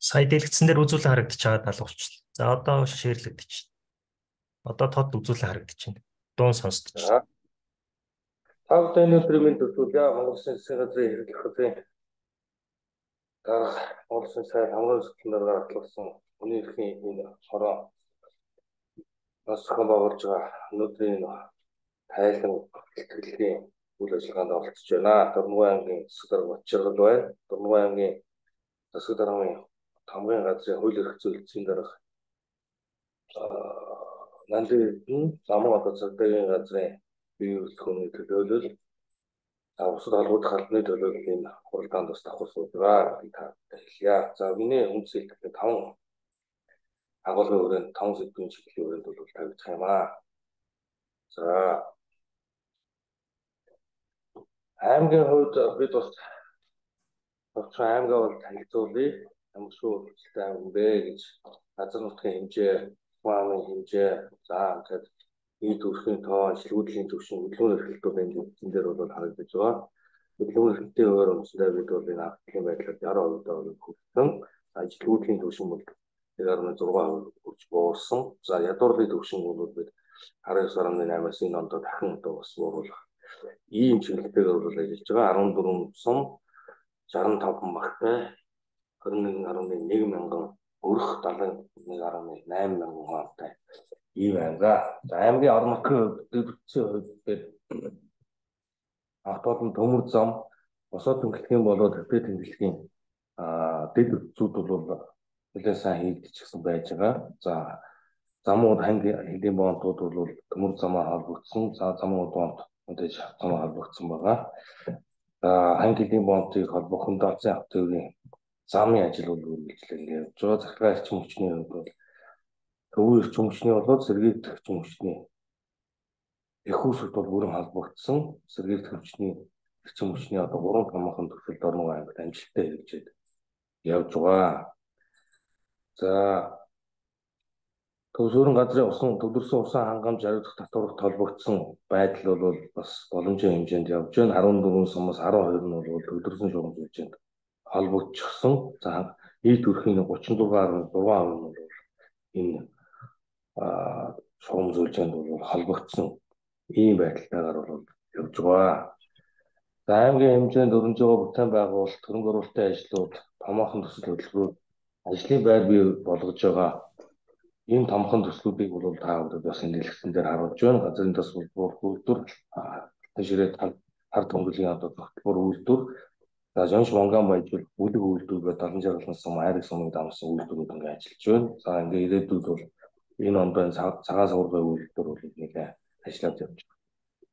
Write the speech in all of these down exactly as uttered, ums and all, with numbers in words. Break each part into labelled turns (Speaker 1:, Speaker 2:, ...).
Speaker 1: Сая дэлгэцэн дээр үзүүлэн харагдаж байгаа даал болчихлоо. За одоо шеэрлэгдэж байна. Одоо тод үзүүлэн харагдаж байна. Дуун сонсдож байна.
Speaker 2: Та бүхэн өнөөдрийн мэнд төсөөлье. Монгол Улсын засгийн газрын хэрэглэх хөтөлбөрийн дарга Монгол Улсын сайд хамгаалалт зөвлөлтөөр гаргасан хүний эрхийн энэ хороо нас зохион байгуулж байгаа өнөөдрийн тайлан бэлтгэлгийн үйл ажиллагаанд оролцож байна. Дурмгай аймгийн засаг дарга Батчиргал байна. Дурмгай аймгийн засаг даргын хамгийн газрын хууль эрх зүйн эцсийн дарга Нандин замун одоо цагдаагийн газрын бие бүрэлдэхүүний төлөөлөл бусад холбогдох албаны төлөөлөл энэ хуралдаанд бас давхар суугаа та хэлье. За миний үндсэлт таван агуулгын хүрээнд таван сэдвийн чиглэлийн хүрээнд бол тавигдах юм аа. За аймгийн хувьд бид бас товчхон аймгаа бол танилцуулъя. Ямар шүү хөлтэй аймаг бэ гэж газар нутгийн хэмжээ, ухааны хэмжээ, за ингээд нийт төрхийн тоо, шилгүүдлийн түвшин, хөдөлгөөн эрхлэлтүүд энэ зэн дээр бол харагдаж байгаа. Хөдөлгөөн эрхлэлтийн хуваар өмсөндөө бид бол энэ автлын байдлаар яруу хувьд хүрсэн. Ажилгүйдлийн түвшин бол нэг гаруй зураг хувь хүрч буурсан. За ядуурлын түвшин бол бид арван ёс гаруй наймаас энэ ондоо дахин одоо бас бууруулах ийм чиглэлээр бол ажиллаж байгаа. арван дөрвөн сум, шаран таван багтай, хорин нэг гаруй нэг мянган өрх, далайн нэг гаруй найман мянган хаантай ийм аймгаа. За аймгийн орон нутгийн дэвтэрсэн хувьд автодон төмөр зам, босоод тэмдэглэхийн болоод хэвтэ тэмдэглэхийн дэд зүүд бол нэлээд сайн хийгдчихсэн байж байгаа. За замууд ханги хэдийн боонтууд бол төмөр замаа холбогдсон, за замууд боонт мэдээж замаа холбогдсон байгаа. За ханги хэдийн боонтыг холбох хүндацсан автогийн замын ажил бол үргэлжлэн явж байгаа. Захиргаа эрчим хүчний хувьд бол төвийн эрчим хүчний болоод сэргийлэх эрчим хүчний их усуд бол бүрэн холбогдсон. Сэргийлэх хүчний эрчим хүчний одоо гурван томоохон төсөлд орноо аймагт амжилттай хэрэгжээд явж байгаа. За төвсөрөн газрын усан төвлөрсөн усан хангамж хариуцах татварт холбогдсон байдал бол бас боломжийн хэмжээнд явж байна. арван дөрвөн сумаас арван хоёр нь бол төвлөрсөн шугам хэмжээнд холбогдчихсон. За нийт төрхийн гучин дугаар гаруй перцент нь бол энэ шугам зөвлөнд бол холбогдсон ийм байдалтайгаар бол явж байгаа. За аймгийн хэмжээнд өрнөж байгаа бүтээн байгуулалт, хөрөнгө оруулалтын ажлууд, томоохон төсөл хөтөлбөрүүд ажлын байр бий болгож байгаа. Ийм томхон төслүүдийг бол та бүхэн бас энэ дэлгэцэн дээр харуулж байна. Газрын тос болбор үйлдвэр, ширээ хар төнгөлийн одоо тогтмол үйлдвэр, за жонш монган баяжуул бүлэг үйлдвэр гэдэг далан жаргалнаас сум айраг сумыг дамжсан үйлдвэрүүд ингээд ажиллаж байна. За ингээд ирээдүйд бол энэ ондоо цагаан сургуулийн үйлдвэр бол нэлээд ажиллаад явж байгаа.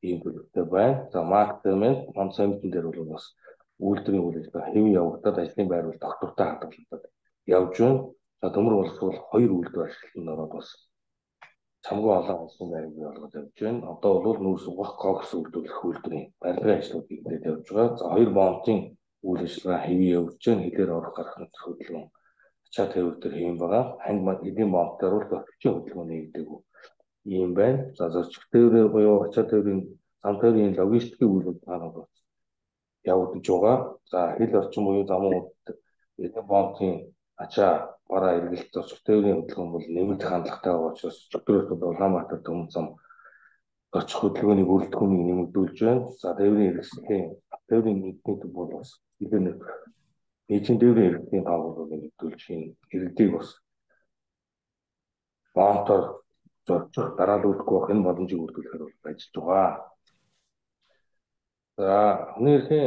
Speaker 2: Ийм төлөвтэй байна. За маркетинг, консалтинг дээр бол бас үйлдвэрийн үйл ажиллагаа хэвэн явагдаад ажлын байр бол доктортой хадгалагдаад явж байна. За төмөр боловсруул хоёр үйлдвэр ашиглалтанд ороод бас чамгүй олон ажлын байр бий болгоод явж байна. Одоо бол нүүрс угах кокс үйлдвэрлэх үйлдвэрийн барилгын ажлууд хийгдээд явж байгаа. За хоёр бомтын үйл ажиллагаа хэвэн явж байна. Хэлээр орох гарах нөхцөл хөдөлгөөн ачаа тээвэр дээр хэвэн байгаа. Ханг эдийн бомтоор бол төвчийн хөдөлгөөн нэгдээгүү ийм байна. За зорчих тээврийн буюу ачаа тээврийн зам тээврийн логистикийн үйл ажиллагаа бол явагдаж байгаа. За хил орчин буюу замууд эдийн бомтын ачаа бараа эргэлт зорчих тээврийн хөдөлгөөн бол нэмэгдэх хандлагатай байгаа учраас өчигдрөөс бол Улаанбаатар төмөн зам зорчих хөдөлгөөний бүрэлдэхүүнийг нэмэгдүүлж байна. За тээврийн хэрэгслийн тээврийн нийтний төв бол бас хэдэн нийтийн тээврийн хэрэгслийн тоо бол нэмэгдүүлж энэ иргэдийг бас бомтоор зорчих дараалуулахгүй байх энэ боломжийг бүрдүүлэхээр бол ажиллаж байгаа. За хүний эрхийн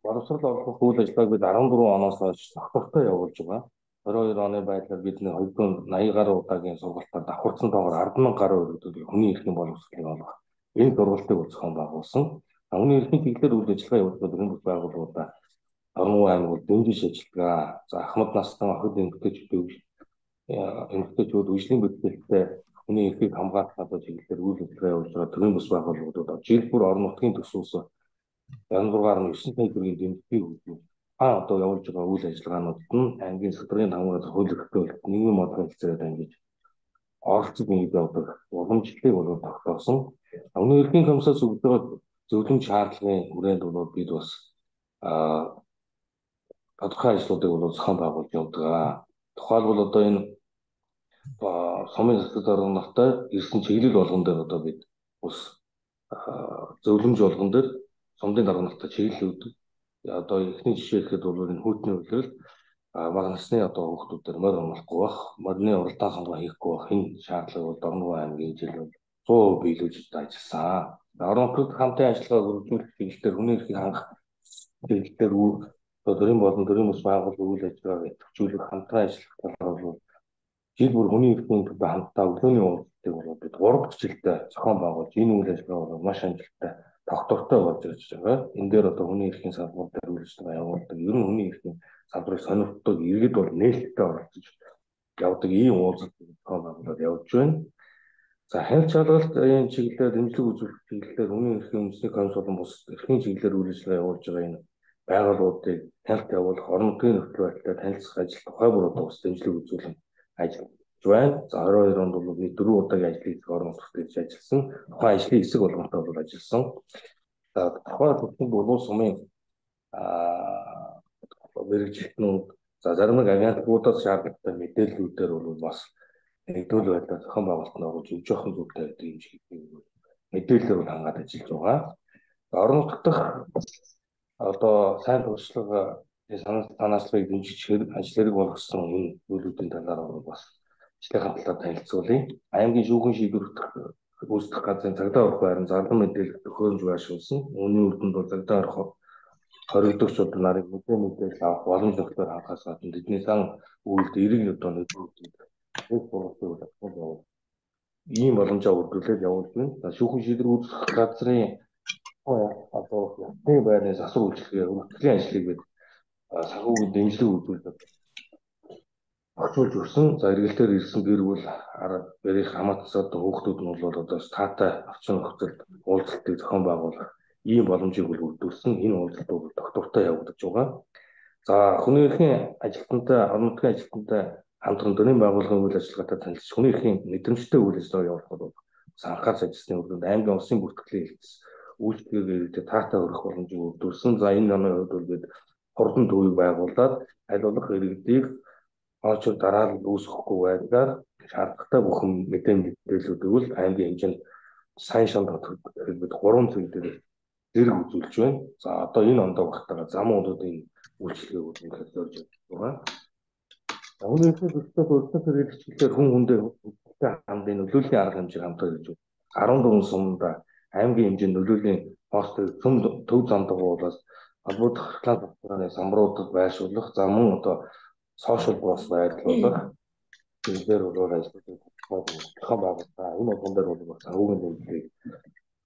Speaker 2: боловсрол олгох үйл ажиллагааг бид арван дөрвөн оноос хойш тогтвортой явуулж байгаа. орой хоёр оны байдлаар бид нэг хоёр зуун наяа гаруй удаагийн сургалтаар давхарсан тоогоор ард мянга гаруй өргөдөл хүний эрхийн боловсролыг олгох энэ сургалтыг зохион байгуулсан. Хүний эрхийн чиглэлээр үйл ажиллагаа явуулдаг төрийн бүс байгууллагуудаа Орон аймаг дэмжиж ажиллагаа. За ахмад настай охид эмэгтэйчүүд эмэгтэйчүүд үжлийн бүтээлтэй хүний эрхийг хамгаалах одоо чиглэлээр үйл ажиллагаа явуулж байгаа төрийн бүс байгууллагуудад жил бүр орон нутгийн төсвөөс янз бүрээр нь9 сая төгрөгийн дэмжлэг өгдөг. А одоо явуулж байгаа үйл ажиллагаануудад нь аймгийн салбарын хамгаалалт хууль эрхтэй нийгмийн модон хэлцээрээ дамжиж оролцож нийт явдаг уламжлалыг болоод тогтоосон. Өмнө эрхийн комиссаас өгж байгаа зөвлөмж шаардлагын хүрээнд бол бид бас а тодорхой ажлуудыг бол зохион байгуулж явдаг. Тухайлбал одоо энэ сумын засаг дарга нартай ирсэн чиглэл болгон дээр одоо бид ус зөвлөмж болгон дээр сумын дарга нартай чиглэл өгдөг. Одоо эхний жишээ гэхэд бол энэ хүүтний үйлрэл бага насны одоо хүүхдүүдээр морь амлахгүй бах, морины уралдаан сонгоо хийхгүй бах энэ шаардлагыг бол Дорногов аймгийн жил бол сто процент биелүүлж ажилласан. Орон нутгад хамтын ажиллагааг үргэлжлүүлэх чиглэлээр хүний эрхийг хангах чиглэлээр төрийн болон төрийн бүс байгууллагын үйл ажиллагааг идэвхжүүлэх хамтран ажиллах талаар бол жил бүр хүний эрхийн төлөө хамтдаа өглөөний уулзалтыг бол бид гурав жилдээ зохион байгуулж энэ үйл ажиллагаа бол маш амжилттай тогтвортой болж ирж байгаа. Энэ дээр одоо хүний эрхийн салбар дээр үйл ажиллагаа явуулдаг. Ер нь хүний эрхийн салбарыг сонирхдаг иргэд бол нээлттэй оролцож явдаг ийм уулзалтыг зохион байгуулад явж байна. За хяналт шалгалт чиглэлээр дэмжлэг үзүүлэх чиглэлээр хүний эрхийн үндэсний комисс болон бус эрхийн чиглэлээр үйл ажиллагаа явуулж байгаа энэ байгууллагуудыг хяналт явуулах, орон нутгийн нөхцөл байдалтай танилцах ажил тухай бүр одоо бас дэмжлэг үзүүлэн ажиллаж байна. За орой хоёр онд бол нэг дөрвөн удаагийн ажлын хэсэг орон нутгад хийж ажилласан. Тухайн ажлын хэсэг болгонтой бол ажилласан. За тухайн бүхэн болон сумын аа мэрэгжилтнүүд за зарим нэг агентлагуудаас шаардлагатай мэдээллүүдээр бол бас нэгдвэл байдлаар зохион байгуулалт нь орж өв жоохон зүйлтэй байдаг юм шиг мэдээлэлээр бол хангаад ажиллаж байгаа. Орон нутгад одоо сайн туршлага санал санаачлалыг дэмжиж ажил хэрэг болгосон энэ зүйлүүдийн талаар бас ажлынхаа талаар танилцуулъя. Аймгийн шүүхэн шийдвэрлэх гүйцэтгэх газрын цагдаа орох байран зарлан мэдээлэл төхөөрөмж байршуулсан. Үүний үр дүнд бол цагдаа орох хоригдогчдод нарыг мэдээ мэдээлэл авах боломж нөхцөл хангахаас гадна тэдний сан үйлд эрэг одоо нөлөөлдөг. Бүх бодлогыг авах ийм боломжоо үргэлжлүүлээд явуулж байна. За шүүхэн шийдвэр үүсгэх газрын одоо ясны байрны засвар үйлчлэгээ өргөдлийн ажлыг бид санхүүгийн дэмжлэг үзүүлдэг. Орчуулж өгсөн. За эргэлтээр ирсэн гэр бүл арга барих хамаатас одоо хүүхдүүд нь бол одоо статай орчин нөхцөлд уулзалтыг зохион байгуулах ийм боломжийг бол өгдөрсөн. Энэ уулзалтууд бол тогтвортой явагдаж байгаа. За хүний эрхийн ажилтнтай, орон нутгийн ажилтнтай хамтран төрийн байгууллагын үйл ажиллагаатай танилцж хүний эрхийн мэдрэмжтэй үйл ажиллагаа явуулахад бол анхаарч ажилласны үр дүнд аймгийн улсын бүртгэлийн хэлтс үйлчлэгээр таатай өрөх боломжийг өгдөрсөн. За энэ оны хувьд бол бид хурдан төвийг байгуулад аль болох иргэдийг очор дараа нь үүсэхгүй байдлаар шаардлагатай бүхэн мэдээ мэдээллүүдийг бол аймгийн хэмжээнд сайн шанд бид гурван зүйл дээр зэрэг үзүүлж байна. За одоо энэ ондоо багтаага зам уудын үйлчлэгийг үнэхээр зорж байгаа. Өмнө нь зөвхөн өртөө хэрэгчлэлээр хүн хүндээ хамтын нөлөөллийн арга хэмжээг хамтаа гэж арван дөрвөн сумда аймгийн хэмжээнд нөлөөлийн постыг төв төв зам дагуулаас холбогдох реклам татварын самбаруудад байршуулах, за мөн одоо сошиал бас байрлуулах зүйлээр бол ажлуудыг зохион байгуулсан. Энэ болгон дээр бол бас агуулгын дэмжлэг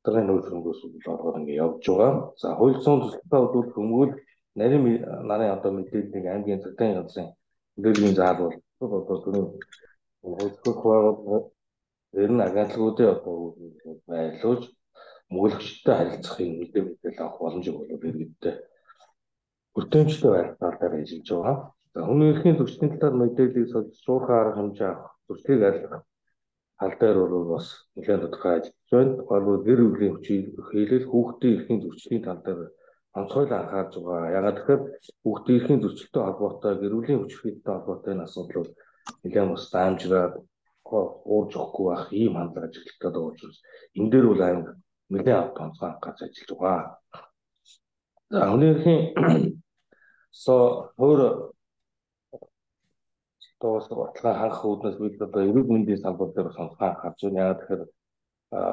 Speaker 2: тэрний нөлөөлөнгөөс болоод ингэ явж байгаа. За хууль зүйн төсөлтөд бол хүмүүл нарийн нарын одоо мэдээллийг аймгийн цагдаагийн газрын мэдээллийн заал бол одоо түрүү хууль зүйн байгууллага ер нь агентлагуудын одоо байлуулж мөнгөлөгчтэй харилцахын мэдээ мэдээлэл авах боломжийг бол иргэдтэй бүртэмжтэй байдлаар ажиллаж байгаа. За хүний эрхийн зөрчлийн талаар мэдээллийг солих шуурхай арга хэмжээ авах, зөрчлийг арилгах тал дээр бол бас нэлээд тодорхой ажиллаж байна. Тухайлбал гэр бүлийн хүчийг хэлэл хүүхдийн эрхийн зөрчлийн тал дээр онцгойлон анхаарж байгаа. Ягаад гэхээр хүүхдийн эрхийн зөрчилтэй холбоотой гэр бүлийн хүч хэрэгтэй холбоотой энэ асуудал бол нэлээд бас даамжраад уурж өгөхгүй байх ийм хандлага ажиглагдаад байгаа учраас энэ дээр бол аймаг нэлээд авт онцгой анхаарч ажиллаж байгаа. За хүний эрхийн со өөр тоос баталгаа хангах үүднээс бид одоо эрүүл мэндийн салбар дээр сонцгой анхаарч байна. Ягаад гэхээр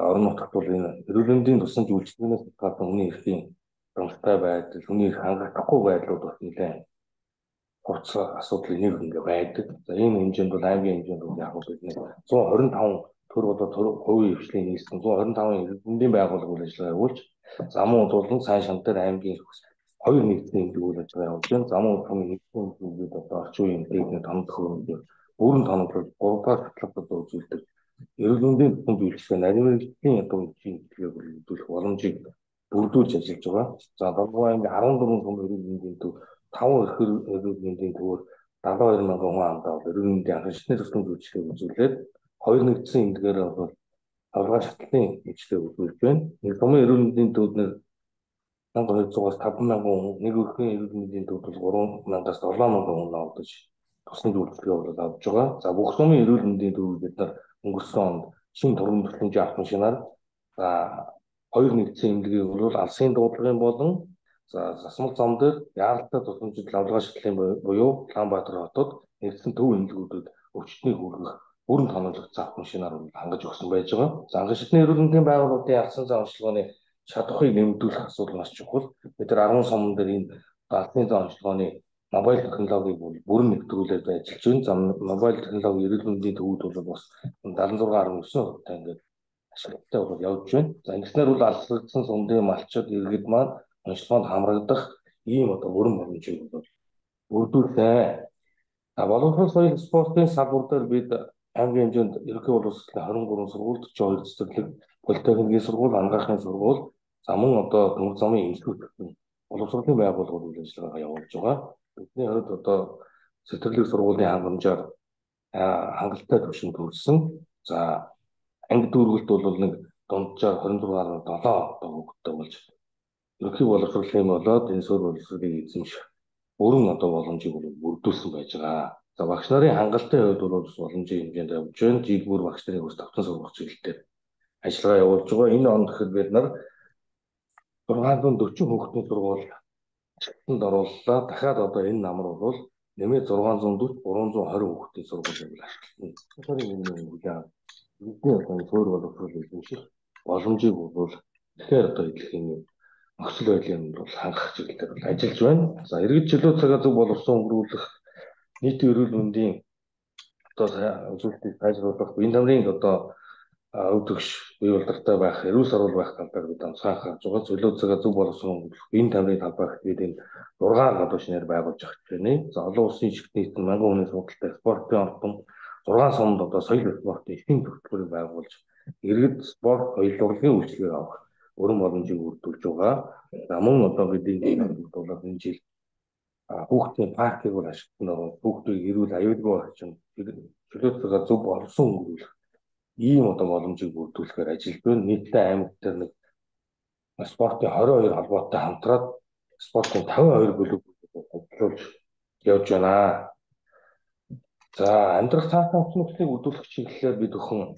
Speaker 2: орон нутгад бол энэ эрүүл мэндийн тусламж үйлчилгээнээс гадна хүний эрхийн хангалттай байдал, хүний эрх хангагдахгүй байдлууд бас нэлээд хурц асуудал нэг ингээ байдаг. За энэ хэмжээнд бол аймгийн хэмжээнд бол яг бид нэг зуун хорин таван төр болоо хувийн хвшлийн нийслэн зуун хорин таван эрдэмтдийн байгууллага үйл ажиллагаа явуулж замун удуулан сайн шам дээр аймгийн хоёр нэгдсэн эмнэлэг үйл ажиллагаа явуулж байна. Замун удуулан нэгдсэн эмнэлгүүд одоо орчин үеийн техник томдох хөрөнгө бүрэн тоноглол гурав дахь хөтөлбөрөөр үзүүлдэг. Эрүүл мэндийн бүхэн биелэлтэй нарийн мэргэжлийн одоо шинжилгээг бүрдүүлэх боломжийг бүрдүүлж ажиллаж байгаа. За Долгон аймгийн арван дөрвөн сум эрүүл мэндийн төв таван эрхэр эрүүл мэндийн төвөөр дагалдаа хоёр мянган хүн амдаа эрүүл мэндийн анхан шатны тусламж үйлчилгээг үзүүлээд хоёр нэгдсэн эмнэлгээр бол аврал шатлалын үйлчилгээг үзүүлж байна. Нэг сумын эрүүл мэндийн төвд нэг один мянган двухсад таван мянган хүн, нэг өрхийн эрүүл мэндийн төвд бол гурван мянгаас долоо мянган хүн авдаж тусламж үйлчилгээ бол авж байгаа. За бүх сумын эрүүл мэндийн төвд бид нар өнгөрсөн онд шинэ тургам тусламжийн авах машинаар за хоёр нэгдсэн эмнэлгийг бол алсын дуудлагын болон за засмал зам дээр яаралтай тусламжид лавлгаа шатлалын буюу Улаанбаатар хотод нэгдсэн төв эмнэлгүүдэд өвчтнийг хүргэх бүрэн тоноглогдсон авах машинаар хангаж өгсөн байж байгаа. За анхан шатны эрүүл мэндийн байгууллагын алсын зам онцлогооны чадхыг нэмэгдүүлэх асуудал маш чухал. Бид нар арван суман дээр энэ алсын зам онцлогооны мобайл технологиг бүрэн нэвтрүүлээд ажиллаж байна. За мобайл технологи эрүүл мэндийн төвүүд бол бас дадлан зураг гарсан хувьтай ингээд ашигладтай бол явж байна. За ингэснээр бол алслагдсан сумдын малчид иргэд маань онцлогоонд хамрагдах ийм одоо бүрэн боломжийг бол бүрдүүлээ. А боловсрол соёл спортын салбар дээр бид аймгийн хэмжээнд ерөнхий боловсролын хорин гурван сургууль, орчим хоёр цэцэрлэг, политехникийн сургууль, ангаахын сургууль, за мөн одоо төмөр замын институт боловсролын байгууллагууд үйл ажиллагаагаа явуулж байгаа. Бидний хувьд одоо цэцэрлэг сургуулийн хангамжаар хангалттай түвшинд хүрсэн. За анги дүүргэлт бол нэг дунджаар хорин зураг гаруй долоо одоо хөвгтөй болж ерөнхий боловсролын болоод энэ суурь боловсролыг эзэмших бүрэн одоо боломжийг бүрдүүлсэн байж байгаа. За багш нарын хангалттай хувьд бол боломжийн хэмжээнд явж байна. Жигмөр багш нарын өс тавтан сургах чиглэлээр ажиллагаа явуулж байгаа. Энэ онд гэхэд бид нар зургаан дөрвөн хүүхдийн сургууль чиглэлд орууллаа. Дахиад одоо энэ намар бол нэмээд зургаан зуун дөрвөн гурван зуун хорин хүүхдийн сургуулийг ашиглана. Сарын өмнө үлээ бидний одоо суурь боловсрол эзэмших боломжийг бол тэгэхээр одоо хэлхийн нөхцөл байдлын бол хангах чиглэлээр бол ажиллаж байна. За иргэд чөлөө цагаа зөв боловсон өнгөрүүлэх нийтийн эрүүл мэндийн одоо үзүүлэлтийг сайжруулах энэ тамирын одоо өвдөгч бие болдартай байх, эрүүл сарвал байх талаар бид анхаарах гарч байгаа. Чөлөө цагаа зөв боловсон өнгөрүүлэх энэ тамирын талбайд бид энэ зургаан гадуур шинээр байгуулж авч байна. За олон улсын ишгт нийтэн мянган хүний судалтай спортын ордон зургаан сумд одоо соёл спортын эхийн төлбөрийг байгуулж иргэд спорт соёл урлагийн үйлчлэгийг авах бүрэн боломжийг бүрдүүлж байгаа. За мөн одоо бидний бодлого энэ жил хүүхдийн паркийг бол ашиглан ороод хүүхдийг эрүүл аюулгүй орчин чөлөө цагаа зөв боловсон өнгөрүүлэх ийм одоо боломжийг бүрдүүлэхээр ажиллаж байна. Нийтдээ аймаг дээр нэг спортын хорин хоёр холбоотой хамтраад спортын таван хоёр бүлэг ажиллуулж явж байна. За амьдрах цаасан өчнөслийг өдөрөх чиглэлээр бид өхөн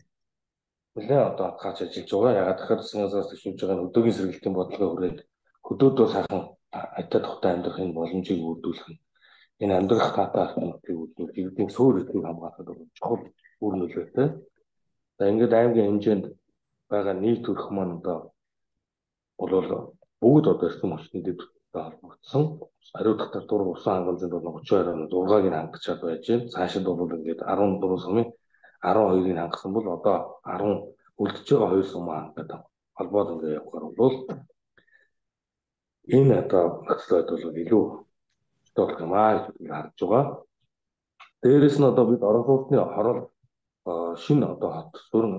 Speaker 2: нэлээд одоо хатгаач ажиллаж байгаа. Ягаад гэхээр засгаас төшөж байгаа өдөөгийн сэргийлтийн бодлогыг хүрээд хөдөөдөө сайхан айтад тухтай амьдрахын боломжийг бүрдүүлэх нь энэ амьдрах таатай асуудлыг үүднүүл иргэдийн суурь эднийг хамгаалахад чухал үр нөлөөтэй. За ингээд аймгийн хэмжээнд байгаа нийт төрх маань одоо бол бүгд одоо эрдэм хүчний дэд холбогдсон. Хариуцлага татвар усан хангамжинд бол тридцать хоёр он зургааг нь хангачаад байж байна. Цаашид бол ингээд арван дөрвөн сумын арван хоёрыг хангасан бол одоо арван үлдэж байгаа хоёр сумаа хангаад холбоод ингээд явахаар бол энэ одоо нөхцөл байдал бол илүү болох юм аа гэж харж байгаа. Дээрээс нь одоо бид орон сууцны хорол шинэ одоо хот суурны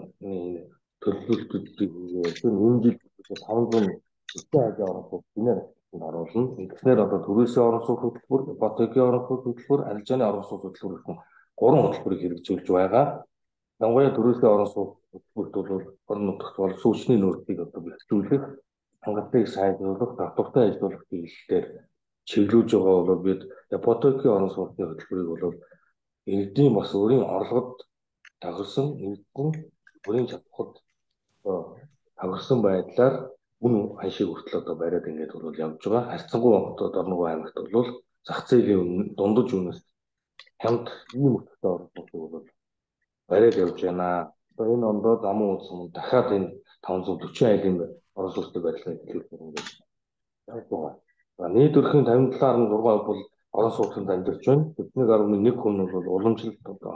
Speaker 2: төлөвлөлтүүдийг энэ жил таван зуун хажаа орон сууц гинээр оруулна. Ингэснээр одоо төрөөсөө орон сууц хөтөлбөр, ипотекийн орон сууц хөтөлбөр, арилжааны орон сууц хөтөлбөр гэх гурван хөтөлбөрийг хэрэгжүүлж байгаа. Дангуяа төрөөсөө орон сууц хөтөлбөрт бол орон нутагт бол сүүчний нөөцийг одоо бэлтжүүлэх, хангалттай сайжруулах, татвартай ажиллах чиглэлээр чиглүүлж байгаа бол бид ипотекийн орон сууцны хөтөлбөрийг бол иргэдийн бас өөрийн орлогод тагсан нэгдсэн бүрийн чадхад тагсан байдлаар үн ханшиг хүртэл одоо бариад ингээд бол явж байгаа. Харьцангуй одоо Дорногов аймагт бол зах зээлийн дундаж үнэс хамт ийм өтөлтөд оролцох бол бариад явж байна. Одоо энэ ондоо замун улс мөн дахиад энэ таван зуун дөрвөн айлын орон сууцны байдлыг хэлэх юм байна. За нийт өрхийн тавин талаар нь зураг бол орон сууцнд амьдарч байна. нэг гаруй нэг хүн бол уламжлалт одоо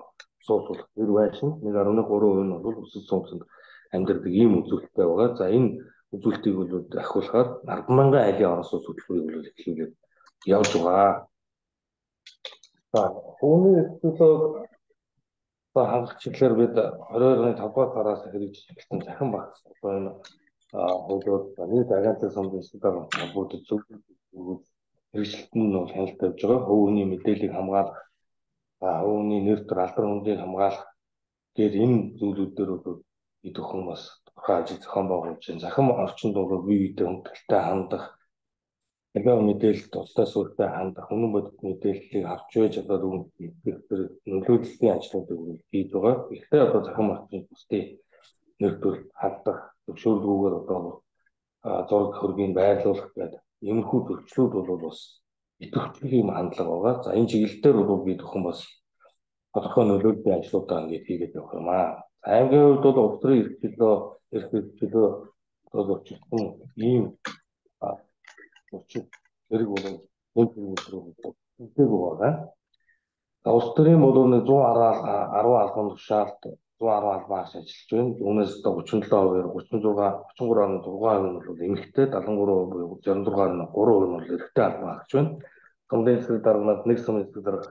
Speaker 2: сууцлахэр байшин, нэг гаруй нэг гурван хүн бол өсөлт сууцнд амьдардаг ийм үзүүлэлттэй байгаа. За энэ үзүүлэлтийг бол ахиулахаар арван мянган айлын орон сууц хөтөлбөрийг бол эхлүүлээд явж байгаа. За үүний төлөө хангах чиглэлээр бид хорин оны тавд дугаар сараас хэрэгжүүлсэн захин багц байна. Хуулиуд нийт агентлагийн сумын стандарт холбоотой зөв хэрэгжилт нь бол хяналт тавьж байгаа. Хувийн мэдээллийг хамгаалах, хувийн нэр төр алдар хүндийг хамгаалах гээд энэ зүйлүүдээр бол бид өхөн бас тухайн ажил зохион байгуулж байна. Захин орчинд бол бие биедээ хүндэлтэй хандах, яг мэдээлэлд тустай сүртэй хандах, үнэн бодит мэдээллийг авч байж одоо үүгээр нөлөөллийн ажлуудыг хийж байгаа. Гэхдээ одоо захин орчинд бусдын нэр төр хандах, зөвшөөрлгүйгээр одоо зураг хөргийг байрлуулах гэдэг иймэрхүү зөрчлүүд бол бас идэвхтэй юм хандлага байгаа. За энэ чиглэлээр бол бид өхөн бас тодорхой нөлөөллийн ажлуудаа ингээд хийгээд явах юм аа. Аймгийн хувьд бол улс төрийн эрхчлөө, эрх хэрэгчлөө одоо зөрчилсөн ийм зөрчил зэрэг бол нэг зүйлтэй байгаа. За улс төрийн бол зуун арван албан тушаалд зуун арван албан агш ажиллаж байна. Үүнээс одоо гучин долоо хувиар гучин зугаа гучин гурав фаصله зургаан хувь нь бол эмэгтэй, дадлан гурав буюу зурсан зургаан фаصله гурав хувь нь бол эрэгтэй албан агш байна. Сумын эсрэг дарганаад нэг сумын эсрэг дарга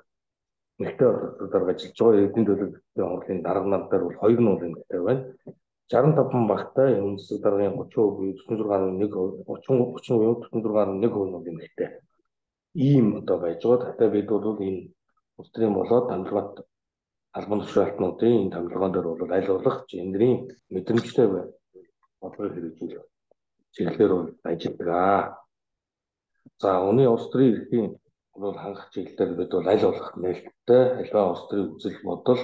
Speaker 2: эмэгтэй эсрэг дарга ажиллаж байгаа. Эрдэнэ төлөвлөлтийн хурлын дарга нар дээр бол хоёр нь бол эмэгтэй байна. шестьдесят пять багтай энэ эсрэг даргын тридцать хувь буюу зурсан зургаан фаصله нэг тридцать тридцать буюу зурсан зургаан фаصله нэг хувь нь бол эмэгтэй. Ийм одоо байж байгаа. Гэхдээ бид бол энэ улс төрийн болоод хамгаалалт албан тушаалтнуудын энэ хамгаалгын дээр бол аль болох гендрийн мэдрэмжтэй бай бодлого хэрэгжүүлэх чиглэлээр бол ажилладаг. За үүний улс төрийн эрхийн бол хангах чиглэлээр бид бол аль болох нээлттэй альва улс төрийн үзэл бодол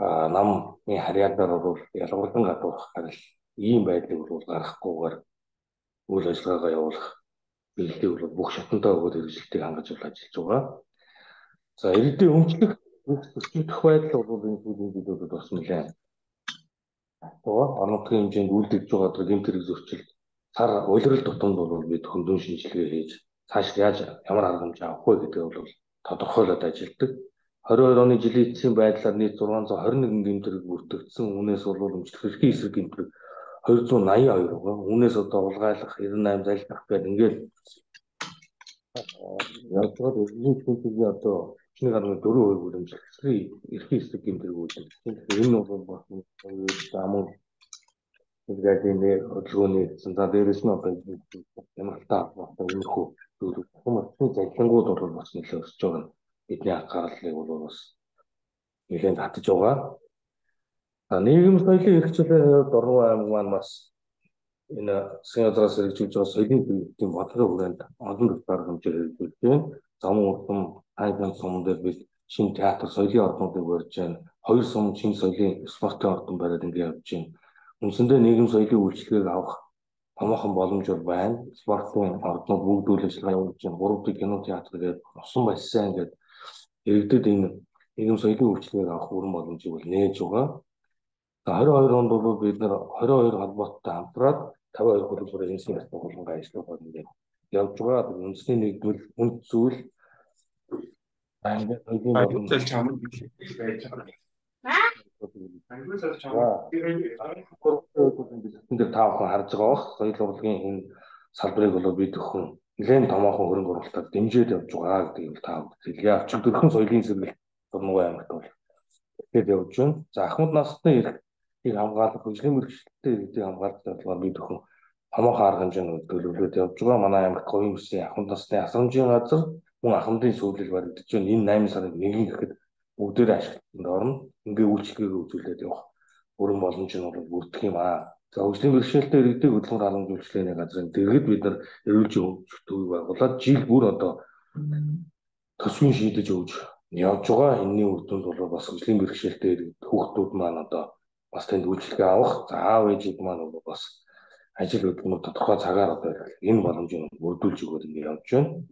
Speaker 2: намын харьяалаар бол ялгарлан гадуурх гарал ийм байдлыг бол гаргахгүйгээр үйл ажиллагаагаа явуулах чиглэлийг бол бүх шатантай өгөөд хэрэгжилтийг хангаж бол ажиллаж байгаа. За иргэдийн өмчлөх өсвөх байдал бол энэ зүйлийг бид бол бас нэлээд одоо орон нутгийн хэмжээнд үйлдвэж байгаа гэмт хэрэг зөрчил сар улирал тутамд бол бид хөндөөн шинжилгээ хийж цааш яаж ямар арга хэмжээ авах вэ гэдгийг бол тодорхойлоод ажилладаг. двадцать двадцать оны жилийн эцсийн байдлаар нийт зургаан зуун хорин нэгэн гэмт хэрэг бүртгэгдсэн. Үүнээс бол өмчлөх эрхийн эсрэг гэмт хэрэг хоёр зуун наян хоёр байгаа. Үүнээс одоо улгайлах девяносто восемь залдах гэдэг ингээд яг л нэг хүнтэй одоо нэг арга дөрөв хувь үлэмжлэх эрхийн эсрэг гэмт хэрэг үүсгэж байна. Тэгэхээр энэ бол бас замун нэгдэлний хөдөлгөөний за дээрээс нь одоо ямар та одоо өмнөхөө зүйл хүмүүс залхингууд бол бас нэлээд өсөж байгаа. Бидний анхаарлыг бол бас нэлээд татж байгаа. За нийгэм соёлын хэрэгчлээ Дорнов аймаг маань бас энэ Сингапураас хэрэгжүүлж байгаа соёлын төлөвлөлтийн бодлогын хүрээнд олон талаар хэмжээ хэрэгжүүлж байна. Замун урдам аймгийн сум дээр бид шинэ театр соёлын орнуудыг барьж байна. Хоёр сум шинэ соёлын спортын ордон бариад ингээд явж байна. Үндсэндээ нийгэм соёлын үйлчлэгийг авах томоохон боломж байна. Спортын орднууд бүгд үйл ажиллагаа явуулж байна. Гурав дахь кино театр гэдэг усан бассейн гэдэг иргэдэд энэ нийгэм соёлын үйлчлэгийг авах бүрэн боломжийг бол нээж байгаа. двадцать двадцать онд бол бид нэр двадцать two холбоотой хамтраад пятьдесят two хөлбөрийн энэсийн ясны хулгай ажиллагаа ингээд явж байгаа. Үндэсний нэгдмэл хүнд зүйл аймгийн соёлын боломж байж байгаа. Бид таахан харж байгаа бох соёл урлагийн энэ салбарыг бол бид өхөн нэлээд томоохон хөрөнгө оруулалтаар дэмжиж явж байгаа гэдгийг та бүхэн хэлье. Өчигдөрхөн соёлын сэргэлт Дорнов аймагт бол тэгээд явж байна. За ахмад насны эрхийг хамгаалах, хөгжлийн мэргэжилттэй иргэдийг хамгаалах талаар бид өхөн томоохон арга хэмжээнд төлөвлөлт явж байгаа. Манай аймагт говийн бүсийн ахмад насны асрамжийн газар мөн ахмадын сүүлэл баригдаж байна. Энэ восемь сарын нэгэн гэхэд бүгдээрээ ашиглалтанд орно. Ингээ үйлчлэгийг үзүүлээд явах бүрэн боломж нь бол бүрдэх юм аа. За хөгжлийн бэрхшээлтэй иргэдийг хөдөлмөр халамжуулалтын газрын дэргэд бид нар эрүүл төвийг байгуулад жил бүр одоо төсвийн шийдэж өгж явж байгаа. Энэний үр дүнд бол бас хөгжлийн бэрхшээлтэй иргэд хүүхдүүд маань одоо бас тэнд үйлчлэгээ авах, за аав ээжүүд маань бол бас ажил хөдөлмөр тодорхой цагаар одоо энэ боломжийг бүрдүүлж өгөөд ингэ явж байна.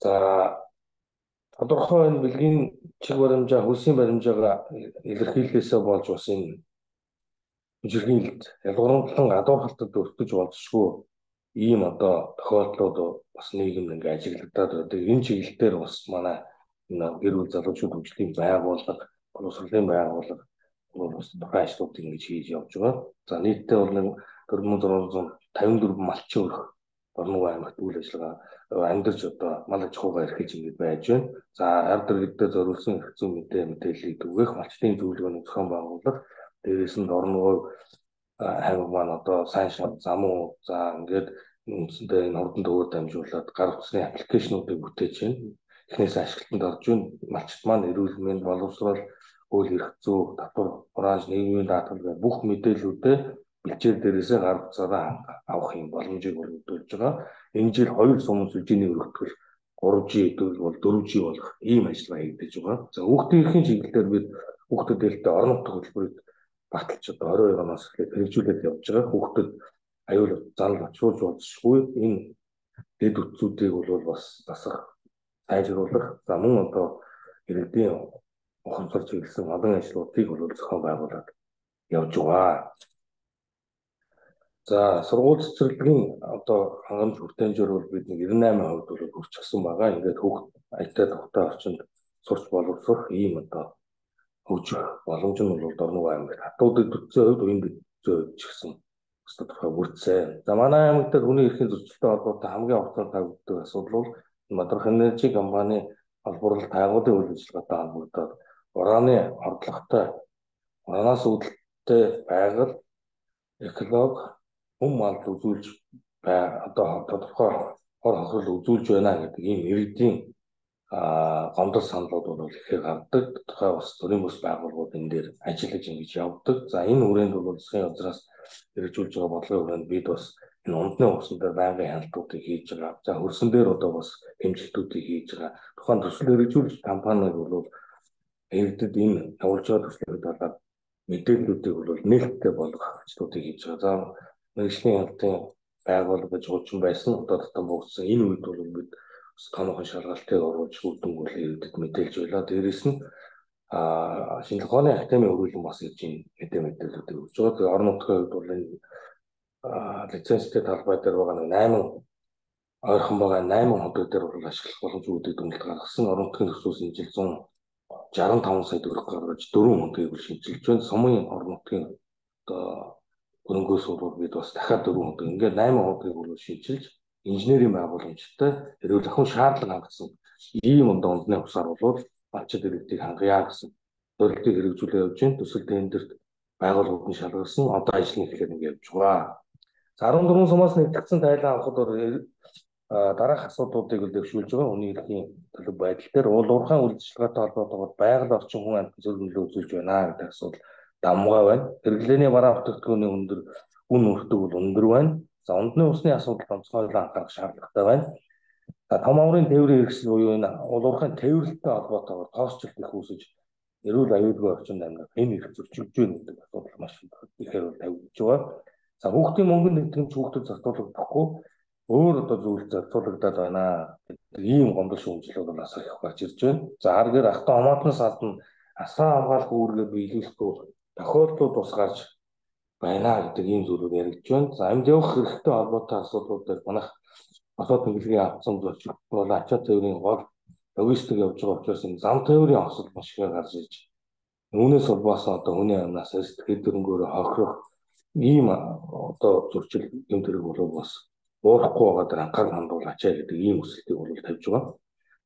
Speaker 2: За тодорхой энэ бэлгийн чиг баримжаа, хөлсийн баримжаагаа илэрхийлэлээсээ болж бас энэ хүчирхийлэлд ялгуурлан гадуурхалтад өртөж болзошгүй ийм одоо тохиолдлууд бас нийгэмд ингээ ажиглагдаад байдаг. Энэ чиглэлээр бас манай энэ гэр бүл залуучууд хөгжлийн байгууллага, боловсролын байгууллага бас тухайн ажлуудыг ингэж хийж явж байгаа. За нийтдээ бол нэг дөрвөн мянган зургаан зуун тавин дөрвөн малчин өрх Орног аймагт үйл ажиллагаа амьдарч одоо мал аж ахуйгаа эрхэж ингэж байж байна. За ард иргэдэд зориулсан эрх зүйн мэдээ мэдээллийг түгээх малчтын зөвлөгөөний зохион байгуулах, дээрээс нь Орног аймаг маань одоо сайн шат зам уу за ингээд үндсэндээ энэ хурдан төвөөр дамжуулаад гар утасны аппликейшнуудыг бүтээж байна. Эхнээс ашиглалтанд орж ийн малчт маань эрүүл мэнд, боловсрол, хууль эрх зүй, татвар, хурааж, нийгмийн даатгал бүх мэдээллүүдээ бэлчээр дээрээсээ гар утсаараа авах юм боломжийг өргөдүүлж байгаа. Энэ жил хоёр сум сүлжээний өргөтгөл гурав жи бол дөрвөн жи болох ийм ажиллагаа хийгдэж байгаа. За хүүхдийн эрхийн чиглэлээр бид хүүхдэд дээлтэй орон нутгийн хөтөлбөрийг баталж одоо орой оноос хэрэгжүүлээд явж байгаа. Хүүхдэд аюул занал очруулж болзошгүй энэ дэд үтцүүдийг бол бас засах, сайжруулах, за мөн одоо иргэдийн ухамсар чиглэсэн олон ажлуудыг бол зохион байгуулад явж байгаа. За сургууль цэцэрлэгийн одоо хангамж хүртээмжээр бол бид нэг девяносто восемь хувьд бол хүрчихсэн байгаа. Ингээд хүүхд аятаа тухтай орчинд сурч боловсрох ийм одоо хөгжих боломж нь бол Орног аймагт хатуудад төцсөн хувьд үеийн төцсөн ч гэсэн өстө тухай бүрдсэн. За манай аймаг дээр хүний эрхийн зөрчилтэй холбоотой хамгийн уртаар тавигддаг асуудал бол Мадрах энержи компани холбоорлолт байгууллагын үйл ажиллагаатай холбогдоод ураны хордлоготой, уранаас үүдэлтэй байгаль, эколог, хүм малд үзүүлж бай одоо тодорхой хор хохирол үзүүлж байна гэдэг ийм иргэдийн гомдол саналууд бол ихээр гардаг. Тухай бас төрийн бус байгууллагууд энэ дээр ажиллаж ингэж явдаг. За энэ хүрээнд бол засгийн газраас хэрэгжүүлж байгаа бодлогын хүрээнд бид бас энэ ундны усан дээр байнгын хяналтуудыг хийж байгаа. За хөрсөн дээр одоо бас хэмжилтүүдийг хийж байгаа. Тухайн төсөл хэрэгжүүлж компаниуд бол иргэдэд энэ явуулж байгаа төслийг талаар мэдээллүүдийг бол нээлттэй болгох ажлуудыг хийж байгаа. За мэргэжлийн хяналтын байгууллага гэж хуучин байсан одоо татан буугдсан энэ үед бол бид томоохон шалгалтыг оруулж үдэн үл иргэдэд мэдээлж байлаа. Дээрээс нь шинжлэх ухааны академийн хөрвүүлэн бас ирж ин хэдэн мэдээллүүдийг өгч байгаа. Тэгээ орон нутгийн хувьд бол энэ лицензтэй талбай дээр байгаа нэг восемь ойрхон байгаа восемь ходог дээр бол ашиглах боломжуудыг дүгнэлт гаргасан. Орон нутгийн төсвөөс энэ жил one sixty-five сая төгрөг гаргаж дөрвөн хоногийг бол шинжилж байна. Сумын орон нутгийн одоо хөрөнгөөс бол бид бас дахиад дөрвөн ходог ингээд восемь хоногийг бол шинжилж инженерийн байгууламжтай хэрвээ ахын шаардлага хангасан ийм ондоо ондны усаар бол малчид иргэдийг хангая гэсэн зорилтыг хэрэгжүүлээ явж байна. Төсөл тендерт байгууллагууд нь шалгасан одоо ажлын эхлээд ингээд явж байгаа. За fourteen сумаас нэгтгэсэн тайлан авахд дараах асуудлуудыг л дэвшүүлж байгаа. Хүний эрхийн төлөв байдал дээр уулуурхайн үйл ажиллагаатай холбоотойгоор байгаль орчин хүн амьтан зөв нөлөө үзүүлж байна гэдэг асуудал давмгай байна. Хэрэглээний бараа бүтээгдэхүүний өндөр үн өртөг бол өндөр байна. За ундны усны асуудал онцгойлон анхаарах шаардлагатай байна. За том амрын тээврийн хэрэгсэл буюу энэ уулуурхайн тээвэрлэлтэй холбоотойгоор тоосчлт их үүсэж эрүүл аюулгүй орчинд амьдрах энэ их зөрчилж байна гэдэг асуудал маш ихээр тавигдж байгаа. За хүүхдийн мөнгөнд нэгтгэмж хүүхдэд зохицуулагдахгүй өөр одоо зүйл зохицуулагдаад байна гэдэг ийм гомдол шүүмжлүүд бол асар их гарч ирж байна. За харгаар ахтан хамаатнаас гадна асаа хамгаалах үүргээ биелүүлэхгүй тохиолдлууд бас гарч байна гэдэг ийм зүйлүүд яригдж байна. За амьд явах хэрэгтэй холбоотой асуудлууд дээр манайх босоод тэглэгийн авцсан зөрчил бол ачаа тээврийн гол логистик явж байгаа учраас энэ зам тээврийн осол маш их гарч ирж үүнээс улбаасан одоо хүний амнаас сэтгэл дөрөнгөөрөө хохирох ийм одоо зөрчил юм тэрэг болов бас уурахгүй байгаа дэр анхаарал хандуул ачаа гэдэг ийм өсөлтийг бол тавьж байгаа.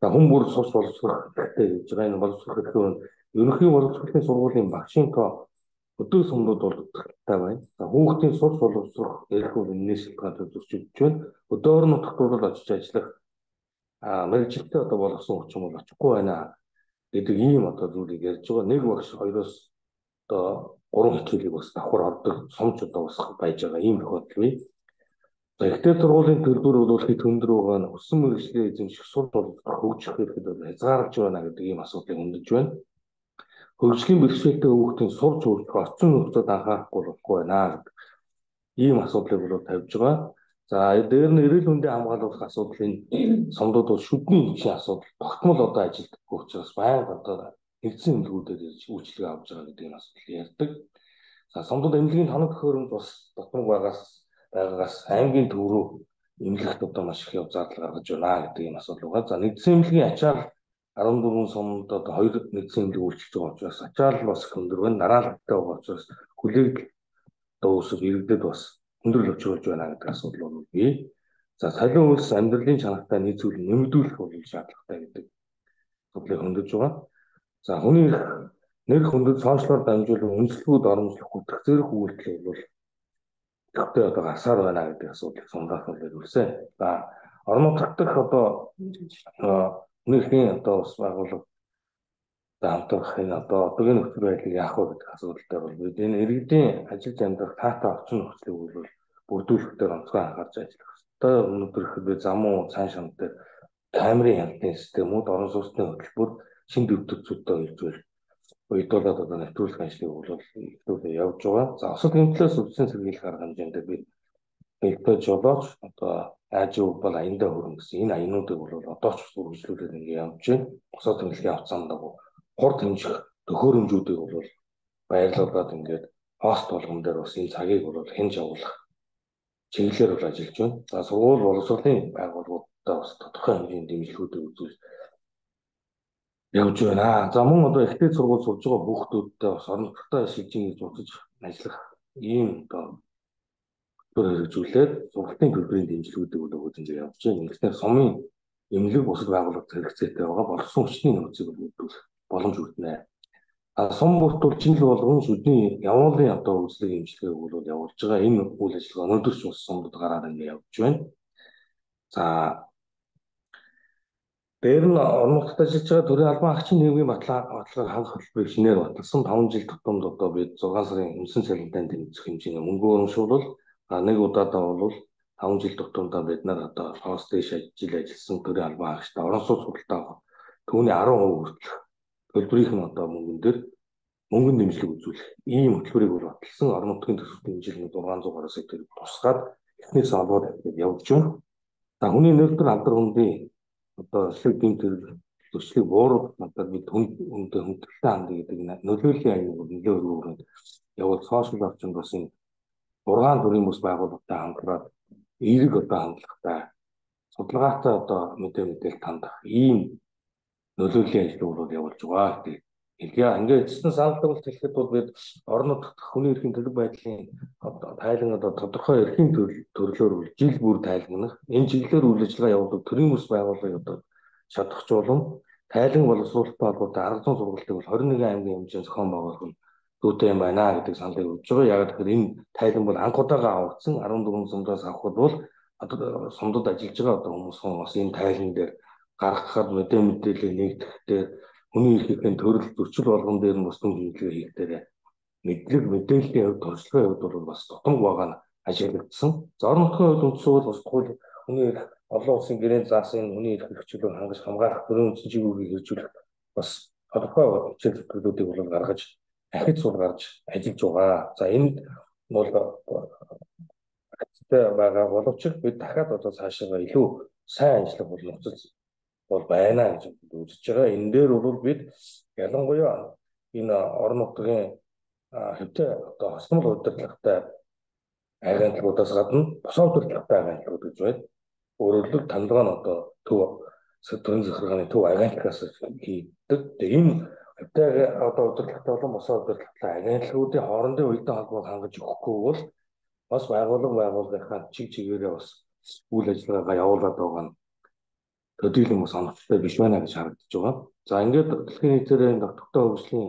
Speaker 2: За хүн бүр сурч боловсрох хэрэгтэй гэж байгаа. Энэ боловсрох хэрэгтэй ерөнхий боловсролын сургуулийн багшийн тоо өдөр сумнууд бол утгатай байна. За хүүхдийн сурч боловсрох эрх бол энэс шалтгаалж зөрчилдөж байна. Өдөр нутагт бол очиж ажиллах а мэргэжилтээ одоо болгосон хүчин бол очихгүй байна гэдэг ийм одоо зүйлийг ярьж байгаа. Нэг багш хоёроос одоо гурван хичээлийг бас давхар ордог сумч одоо бас байж байгаа ийм тохиолдол бий. За ихтэй сургуулийн төлбөр бол хэд өндөр байгаа нь өссөн мэргэжлийн эзэмших сурч боловсрох хөгжих хэрэгэд бол хязгаарч байна гэдэг ийм асуудлыг хөндөж байна. Хөгжлийн бэрхшээлтэй хүүхдийн сурч хөгжих орчин нөхцөлд анхаарахгүй болохгүй байна гэдэг ийм асуудлыг бол тавьж байгаа. За дээр нь эрүүл мэндийн хамгаалах асуудлын сумдууд бол шүдний хүчний асуудал тогтмол одоо ажилдаггүй учраас байнга одоо нэгдсэн эмнэлгүүдээр ирж үйлчлэгээ авч байгаа гэдэг энэ асуудал ярьдаг. За сумдууд эмнэлгийн тоног төхөөрөмж бас дотмог байгаас байгаагаас аймгийн төв рүү эмнэлэгт одоо маш их яв зардал гаргаж байна гэдэг юм асуудал байгаа. За нэгдсэн эмнэлгийн ачаал арван дөрвөн сумд одоо хоёр нэгдсэн эмнэлэг үйлчилж байгаа учраас ачаал бас өндөр байна. Дараалалтай байгаа учраас хүлээг одоо өсөв иргэдэд бас өндөр өчрүүлж байна гэдэг асуудал бол бий. За солио улс амьдралын чанартай нийцүүлэн нэмэгдүүлэх бол шаардлагатай гэдэг асуудлыг хөндөж байгаа. За хүний нэр хүндэд сошиалор дамжуулан үнэлэлгүүд оромжлох хүртэх зэрэг үйлдэл бол тогтоо одоо гарсаар байна гэдэг асуудлыг сумдаах бол ирүүлсэн. За орон нутгад одоо нийгмийн одоо бас байгууллага хамтрах энэ одоо одоогийн нөхцөл байдлыг яах вэ гэдэг асуудалтай бол бид энэ иргэдийн ажил амьдрах таатай орчин нөхцөлийг бол бүрдүүлэх дээр онцгой анхаарч ажиллах хэрэгтэй. Өнөөдөр ихэд зам уу цааш шам дээр камерын хяналтын системүүд орон сууцны хөтөлбөр шин дэвтэрцүүдтэй иржүүл уйдуулаад одоо нэвтрүүлэх ажлыг бол ихлүүлээ явж байгаа. За осол гэмтлээс өвчин сэргийлэх арга хэмжээнд би хэлбэж жолооч одоо ажил бол аяндаа хөрөн гэсэн энэ аянуудыг бол одоо ч үргэлжлүүлээд ингэ явж байна. Осол тэмдэглэлийн авцаанд дагуу хурд хэмжих төхөөрөмжүүдийг бол баярлуулад ингээд хост болгон дээр бас энэ цагийг бол хянж явуулах чиглэлээр бол ажиллаж байна. За сургууль боловсролын байгууллагуудаа бас тодорхой хэмжээний дэмжлэгүүдийг үзүүл явж байна. За мөн одоо ихтэй сургууль сурж байгаа хүүхдүүдтэй бас орон нутгад шилжин гэж бодож ажиллах ийм одоо төр хэрэгжүүлээд сургалтын төлбөрийн дэмжлэгүүдийг бол өгөөж ингэ явж байна. Ингэснээр сумын эмнэлэг бусад байгууллагад хэрэгцээтэй байгаа болсон хүчний нөөцийг бүрдүүлэх боломж өгнө. А сум бүртгүүл жил болгон шүдний явуулын одоо үйлчлэг эмчилгээг бол явуулж байгаа. Энэ үйл ажиллагаа өнөөдөр ч бас сумдад гараад ингэ явж байна. За дээр нь орон нутгад ажиллаж байгаа төрийн албан агчийн нийгмийн баталгааг хангах хөтөлбөрийг шинээр баталсан таван жил тутамд одоо бид зургаан сарын өмсөн цалинтай тэмцэх хэмжээний мөнгө урамшуулал нэг удаадаа бол таван жил тутамдаа бид нар одоо хост дэш ажил ажилласан төрийн албан агчтай орон сууц худалдаа түүний арван хувь хүртэлх төлбөрийнх нь одоо мөнгөн дээр мөнгөн дэмжлэг үзүүлэх ийм хөтөлбөрийг бол баталсан. Орон нутгийн төсвийн дэмжлэг зургаан зугаар сэтэр тусгаад эхнээс олоод явж байна. За хүний нөлтөр алдар хүндийн одоо шиг гэмтэр төслийг бууруулах надад бид хүнд хүндээ хүндэлтэй хандъя гэдэг нөлөөллийн аяг нөлөө өргөөрөнд явал сошиал орчинд бас энэ ургаан төрийн бас байгууллагатай хамтраад эерэг одоо хандлагатай судалгаатай одоо мэдээ мэдээлэл хандах ийм нөлөөллийн ажил бол явуулж байгаа гэдэг хэлье. Ингээд эцэстэн санал тавилт хэлэхэд бол бид орон нутгад хүний эрхийн төлөв байдлын одоо тайлан одоо тодорхой эрхийн төрлөөр жил бүр тайлгнах энэ чиглэлээр үйл ажиллагаа явуулдаг төрийн бас байгууллагыг одоо шатахжуулан тайлан боловсруулалттай холбоотой арга зүйн сургалтыг бол хорин нэгэн аймгийн хэмжээнд зохион байгуулах нь зүйтэй юм байна гэдэг саналыг өгж байгаа. Яг тэгэхээр энэ тайлан бол анх удаага авагдсан арван дөрвөн сумдаас авахд бол одоо сумдад ажиллаж байгаа одоо хүмүүс бас энэ тайлан дээр гаргахад мэдээ мэдээлэл нэгтгэхдээ хүний эрхийн төрөл зөрчил болгон дээр нь бас түн хэмжээ хийх дээр мэдлэг мэдээллийн хувьд туршлагын хувьд бол бас тутамг байгаа нь ажиглагдсан. За орон нутгийн хувьд үндсэн бол бас тухайн хүний эрх олон улсын гэрээнд заасан хүний эрх хэрэгчлүүг хангаж хамгаалах төрийн үндсэн чиглэлийг хэрэгжүүлэх бас тодорхой хичээл зөвлөлүүдийг бол гаргаж ахиж суул гарч ажиллаж байгаа. За энд бол агцтай байгаа боловч бид дахиад одоо цаашаа илүү сайн ажиллах бол нөхцөл бол байна гэж үзэж байгаа. Энэ дээр бол бид ялангуяа энэ орон нутгийн хэвтэй одоо хослол удирдлагатай агентлагуудаас гадна босоо удирдлагатай агентлагууд гэж байна. Өөрөлд тандгаа нь одоо төв төрийн захиргааны төв агентлагаас хийдэг. Тэгээ энэ хэвтэй одоо удирдлагатай болон босоо удирдлагатай агентлагуудын хоорондын үеийн холбоог хангаж өгөхгүй бол бас байгууллага байгууллагынхаа чиг чигээрээ бас үйл ажиллагаагаа явуулаад байгаа нь төдийлөн бас онцлог биш байна гэж харагдаж байгаа. За ингээд дэлхийн нийтээр энэ тогтвортой хөгжлийн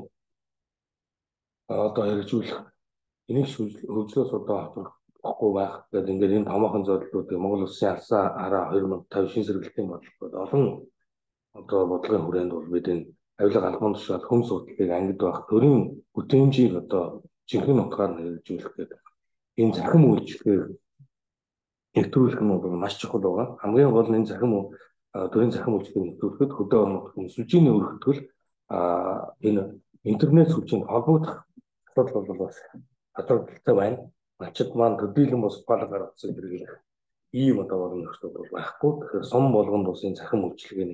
Speaker 2: одоо хэрэгжүүлэх энийг хөгжлөөс одоо авахгүй байх гэдэг ингээд энэ томоохон зорилгоодыг Монгол Улсын алсаа хараа хоёр мың и тавь шин сэргэлтийн бодлогод олон одоо бодлогын хүрээнд бол бид энэ авилга албан тушаал хүм судлалыг ангид байх төрийн бүтээмжийг одоо жинхэнэ утгаар хэрэгжүүлэх гэдэг энэ захим үйлчлэгийг нэвтрүүлэх нь бол маш чухал байгаа. Хамгийн гол нь энэ захим төрийн захим үйлчлэгийг нэвтрүүлэхэд хөдөө орон нутгийн сүлжээний өргөтгөл энэ интернет сүлжээнд холбогдох асуудал бол бас хадгалтай байна. Ачид маань төдийлөн бас ухаалаг гаргасан хэрэглэх ийм одоо болон нөхцөл бол байхгүй. Тэгэхээр сум болгонд бас энэ захим үйлчлэгийн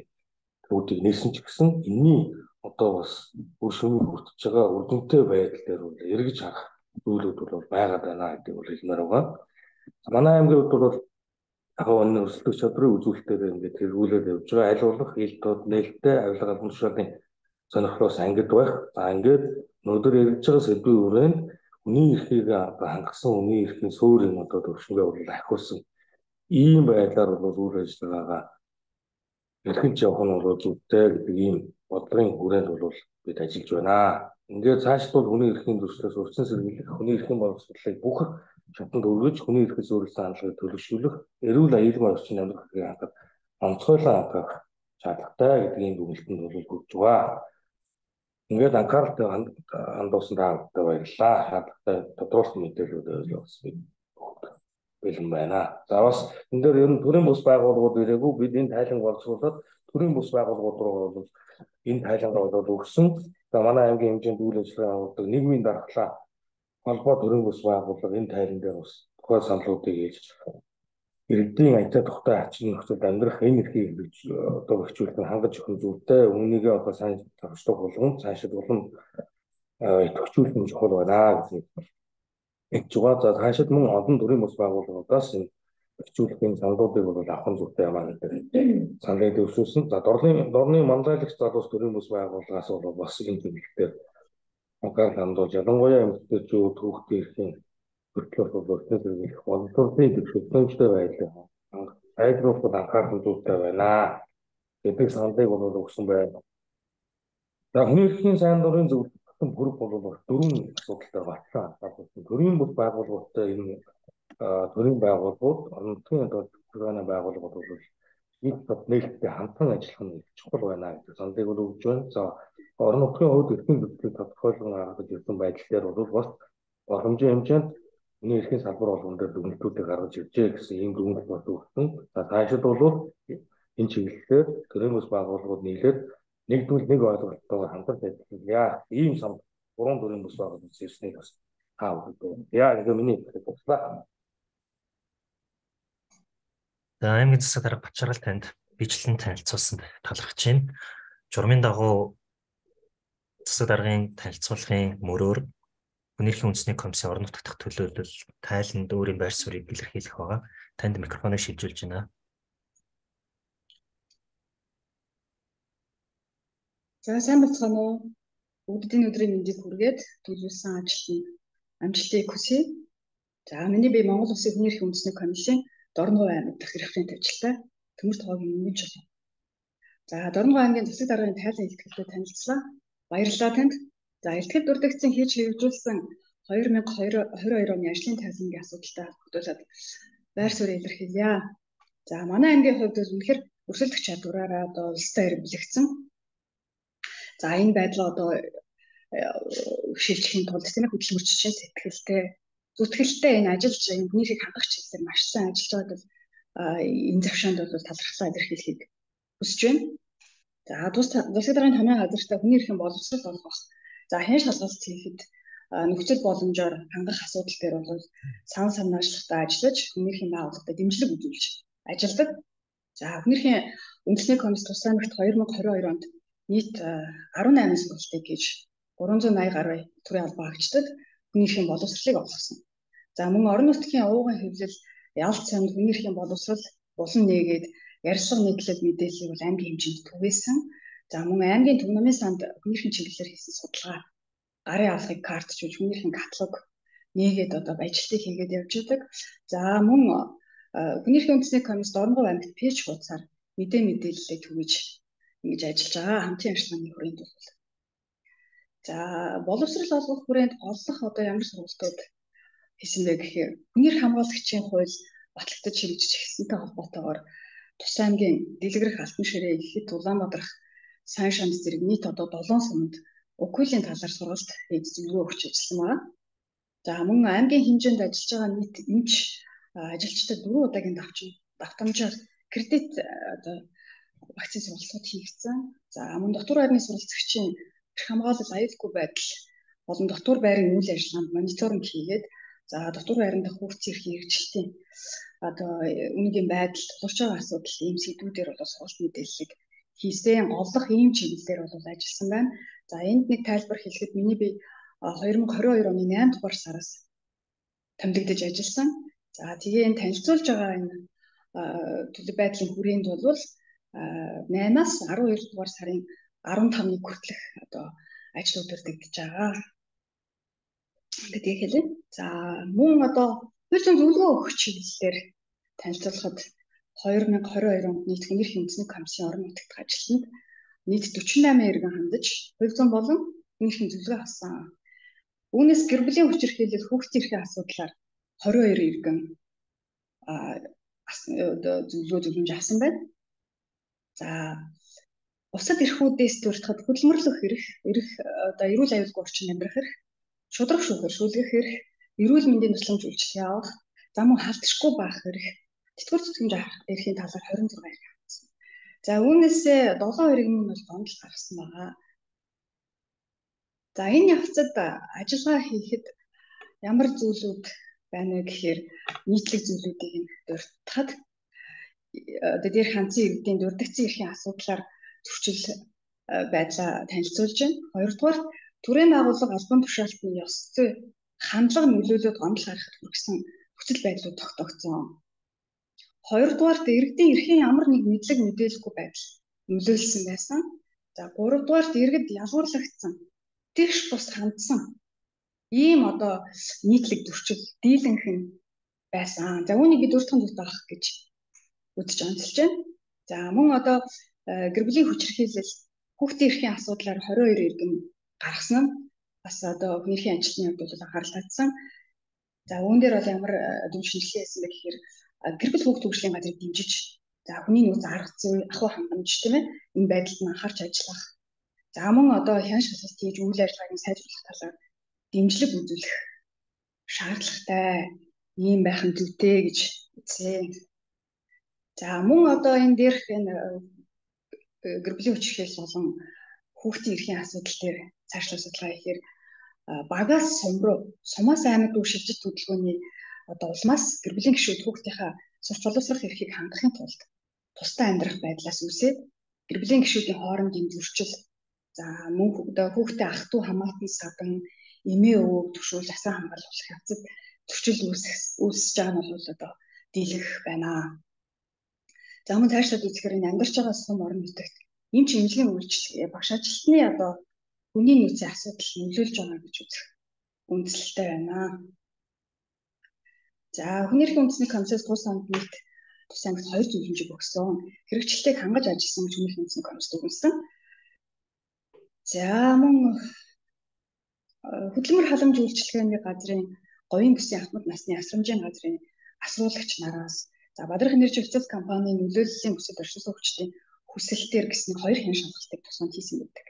Speaker 2: төвүүдийг нээсэн ч гэсэн энэний одоо бас бүр шөнийн хүртэж байгаа үрдөнтэй байдал дээр бол эргэж харах зүйлүүд бол байгаад байна гэдгийг бол хэлмээр байгаа. Манай аймгийн хувьд бол яг энэ өрсөлдөх чадрын үзүүлэлтээр ингээд тэргүүлээд явж байгаа. Аль болох ил тод нээлттэй авилга албан тушаалын сонирхлоос ангид байх. За ингээд өнөөдөр яриж байгаа сэдвийн хүрээнд хүний эрхийг хангасан хүний эрхийн суурийн одоо төвшингээ бол ахиулсан ийм байдлаар бол үйл ажиллагаагаа эрхэлж явах нь бол зүйтэй гэдэг ийм бодлогын хүрээнд бол бид ажиллаж байна. Ингээд цаашд бол хүний эрхийн зөрчлөөс урьдчилан сэргийлэх, хүний эрхийн боловсролыг бүх шатанд өргөж, хүний эрхээс өөрчлөлт хандлагыг төлөвшүүлэх, эрүүл аюулгүй орчин амьдрах хэрэг хангах, онцгойлон хангах шаардлагатай гэдгийн дүгнэлтэнд бол хүрч байгаа. Ингээд анхааралтай хандуулсан таамагтай баярлалаа. Шаардлагатай тодорхойлсон мэдээлэлүүд өгсөн бэлэн байна. За бас энэ дээр ер нь төрийн бус байгууллагууд ирээгүй, бид энэ тайлан боловсруулаад төрийн бус байгууллагууд руу бол энэ тайлангаа бол өгсөн. За манай аймгийн хэмжээнд үйл ажиллагаа явуулдаг нийгмийн дархлаа холбоо төрийн бус байгууллага энэ тайлан дээр бас тухайн саналуудыг хийж иргэдийн аятаа тухтай ачин нөхцөлд амьдрах энэ эрхийг одоо хөгжүүлэх хангаж өгөх зүйтэй үүнийгээ одоо сайн тавьчлах болгон цаашид улам идэвхжүүлэх нь чухал байна гэж хэлж байгаа. За цаашид мөн олон төрлийн бус байгууллагуудаас энэ хөгжүүлэхийн саналуудыг бол авах зүйтэй юм аа гэдэг саналыг дэвшүүлсэн. За дорны дорны манлайлагч залуус төрлийн бус байгууллагаас бол бас энэ чиглэлээр анхаарал хандуулж ялангуяа эмэгтэйчүүд хүүхдийн эрхийн хөтлөлт бол өртөө зэрэгэх боловсролын төвшөлтөмжтэй байдлыг сайжруулахад анхаарал зүйтэй байна гэдэг саналыг бол өгсөн байна. За хүний эрхийн сайн дурын зөвлөлтөнд хүрэх бол дөрвөн асуудалтай батлан анхаарсан. Төрийн бус байгууллагуудтай энэ төрийн байгууллагууд, орон нутгийн төлөвлөгөөний байгууллагууд бол нийт нээлттэй хамтран ажиллах нь чухал байна гэдэг саналыг бол өгж байна. За орон нутгийн хувьд эрхийн зөвлөлтийг тодорхойлон гаргаж ирсэн байдал дээр бол бас боломжийн хэмжээнд хүний эрхийн салбар болгон дээр дүгнэлтүүдийг гаргаж иржээ гэсэн ийм дүгнэлт бол өгсөн. За цаашид бол энэ чиглэлээр төрийн бус байгууллагууд нийлээд нэгдвэл нэг ойлголтоор хамтран ажиллая. Ийм сам гурван төрлийн бус байгууллагууд ирснийг бас таа өгдөө. Яа нэг миний хэлсэн.
Speaker 1: За аймгийн засаг дарга Бачаргал танд бичлэн танилцуулсан талархаж байна. Журмын дагуу засаг даргын танилцуулгын мөрөөр Хүний эрхийн үндэсний комиссийн орон нутгад дахь төлөөлөл тайланд өөрийн байр суурийг илэрхийлэх байгаа. Танд микрофоныг шилжүүлж байна.
Speaker 3: За сайн бацгаана уу. Бүгдийн өдрийн мэндийг хүргээд төлөвлөсөн ажилтнанд амжилтыг хүсье. За миний бие Монгол Улсын Хүний эрхийн үндэсний комиссийн Дорногов аймаг дахь референт ажилтай Төмөр Тоогийн өмнө жил. За Дорногов аймгийн засаг даргын тайлан илтгэлтэй танилцлаа. Баярлалаа танд. За илтгэл дүрдэгцэн хийж хэрэгжүүлсэн хоёр мянга хоёр оны ажлын тайлангийн асуудалтай холбогдуулаад байр суурийг илэрхийлье. За манай аймгийн хувьд үнэхээр өрсөлдөх чадвараараа одоо улстай ирэмблэгдсэн. За энэ байдлаа одоо шилжихийн тулд тийм хөдөлмөрчийн сэтгэлтэй зүтгэлтэй энэ ажиллаж энэ хүний эрхийг хангах чиглэлээр маш сайн ажиллаж байгаад бол энэ завшаанд бол талархлаа илэрхийлэхийг хүсэж байна. За тус засаг даргын томьёо газартай хүний эрхийн боловсрол олгох. За хэн шалгалт хийхэд нөхцөл боломжоор хангах асуудал дээр бол сан санаачлалтай ажиллаж хүний эрхийн байгууллагад дэмжлэг үзүүлж ажилладаг. За хүний эрхийн үндэсний комисс тусгай мэгт хоёр мянга двадцать хоёр онд нийт арван найман сургалтыг хийж гурван зуун мянган гаруй төрийн албан хаагчдад хүний эрхийн боловсролыг олгосон. За мөн орон нутгийн ууган хэвлэл, ялц санд хүний эрхийн боловсрол улам нээгээд ярилцлага нийтлэл мэдээллийг бол аймгийн хэмжээнд түгээсэн. За мөн аймгийн төв намын санд хүний эрхийн чиглэлээр хийсэн судалгаа гарын авлагыг картчилж хүний эрхийн каталог нээгээд одоо ажилтныг хийгээд явж байдаг. За мөн хүний эрхийн үндэсний комисс Дорногов аймагт пэйж хуудасаар мэдээ мэдээллийг түгэж ингэж ажиллаж байгаа хамтын ажиллагааны хүрээнд бол. За боловсрол олгох хүрээнд голлох одоо ямар сургалтууд хийсэн бэ гэхээр хүний эрх хамгаалагчийн хууль батлагдаж хэрэгжиж эхэлсэнтэй холбоотойгоор Тус аймгийн дэлгэрэх алтан ширээ ихэд Улаанбаатарх сайн шамс зэрэг нийт одоо долоон суманд укулийн талаар сургалт хийж зөвлөгөө өгч ажилласан байна. За мөн аймгийн хэмжээнд ажиллаж байгаа нийт эмч ажилчдад дөрвөн удаагийн давчин давтамжаар кредит одоо вакцины сургалтууд хийгдсэн. За мөн дотор байрны суралцагчийн эрх хамгаалал аюулгүй байдал болон дотор байрын үйл ажиллагаанд мониторинг хийгээд за дотор байранд хүүхдийн эрхийн хэрэгжилтийн одоо үнэгийн байдал тулгарч байгаа асуудал ийм сэдвүүдээр бол сургалт мэдээллийг хийсэн голлох ийм чиглэлээр бол ажилласан байна. За энд нэг тайлбар хэлэхэд миний би хоёр мянга двадцать хоёр оны найман дугаар сараас томилогдож ажилласан. За тэгээ энэ танилцуулж байгаа энэ төлөв байдлын хүрээнд бол наймаас арван хоёр дугаар сарын арван тавныг хүртэлх одоо ажлууд өрдөгдөж байгаа. Гэдгийг хэлээ. За мөн одоо хууль зүйн зөвлөгөө өгөх чиглэлээр танилцуулахад хоёр мянга хорин хоёр онд нийт хүний эрхийн үндэсний комиссийн орон нутагт ажилтнанд нийт дөрвөн восемь иргэн хандаж хууль зүйн болон хүний эрхийн зөвлөгөө авсан. Үүнээс гэр бүлийн хүчирхийлэл хүүхдийн эрхийн асуудлаар хорин хоёр иргэн зөвлөгөө зөвлөмж авсан байна. За бусад эрхүүдээс дуртахад хөдөлмөрлөх эрх, эрх одоо эрүүл аюулгүй орчин амьдрах эрх, шударга шүүхээр шүүлгэх эрх, эрүүл мэндийн тусламж үйлчлэх явах, зам мөн халдшгүй байх эрх, тэтгэвэр зүтгэмж авах эрхийн талаар хорин зураг эрх авсан. За үүнээсээ долоон иргэн нь бол гомдол гаргасан байгаа. За энэ явцад ажиллагаа хийхэд ямар зүйлүүд байна вэ гэхээр нийтлэг зүйлүүдийг нь дуртахад одоо дээр ханцын иргэдийн дурдгцсан эрхийн асуудлаар зөрчил байдлаа танилцуулж байна. Хоёрдугаар төрийн байгууллага албан тушаалтны ёс зүй хандлага нөлөөлөд гомдол гаргахад хүргэсэн нөхцөл байдлууд тогтоогдсон. Хоёрдугаар иргэдийн эрхийн ямар нэг мэдлэг мэдээлэлгүй байдал нөлөөлсөн байсан. За гуравдугаар иргэд ялгуурлагдсан, тэгш бус хандсан ийм одоо нийтлэг зөрчил дийлэнх нь байсан. За үүнийг бид урьдчилан зүгт авах гэж үзэж онцолж байна. За мөн одоо гэр бүлийн хүчирхийлэл хүүхдийн эрхийн асуудлаар хорин хоёр иргэн гаргасан нь бас одоо хүний эрхийн ажилтны хувьд бол анхаарал татсан. За үүн дээр бол ямар дүншинлээ хийсэн бэ гэхээр гэр бүл хүүхд хөгжлийн газрыг дэмжиж за хүний нөөц арга зүй ахуй хангамж тийм ээ энэ байдалд нь анхаарч ажиллах. За мөн одоо хян шалгалт хийж үйл ажиллагааг сайжруулах талаар дэмжлэг үзүүлэх шаардлагатай ийм байх нь зүйтэй гэж үзье. За мөн одоо энэ дээрх энэ гэр бүлийн хүчирхийлэл болон хүүхдийн эрхийн асуудал дээр цаашлаа судалгаа хийхээр багаас сум руу сумаас аймаг руу шилжиж хөдөлгөөний одоо улмаас гэр бүлийн гишүүд хүүхдийнхаа сурч боловсрох эрхийг хангахын тулд тусдаа амьдрах байдлаас үүсээд гэр бүлийн гишүүдийн хоорондын зөрчил за мөн хүүхдээ ах トゥ хамаатан садан эмээ өвөг төвшүүл асан хамгаалах явцад зөрчил үүсэж байгаа нь бол одоо дийлэх байна. За мөн цаашлаад үзэхээр энэ амьдарч байгаа сум орон нутагт эм чимжлийн үйлчлэг багш ажилтны одоо хүний нөөцийн асуудал нөлөөлж байгаа гэж үзэх үндслэлтэй байна. За хүний эрхийн үндэсний комиссаас тус онд нийт тус аймагт хоёр зөвлөмжийг өгсөн. Хэрэгжилтийг хангаж ажилласан гэж хүний эрхийн үндэсний комисс дүгнсэн. За мөн хөдөлмөр халамж үйлчилгээний газрын говийн бүсийн ахмад насны асрамжийн газрын асруулагч нараас за Бадрах энержи официал компанийн нөлөөллийн бүсэд оршин суугчдын хүсэлтээр гэсэн хоёр хян шалгалтыг тусганд хийсэн байдаг.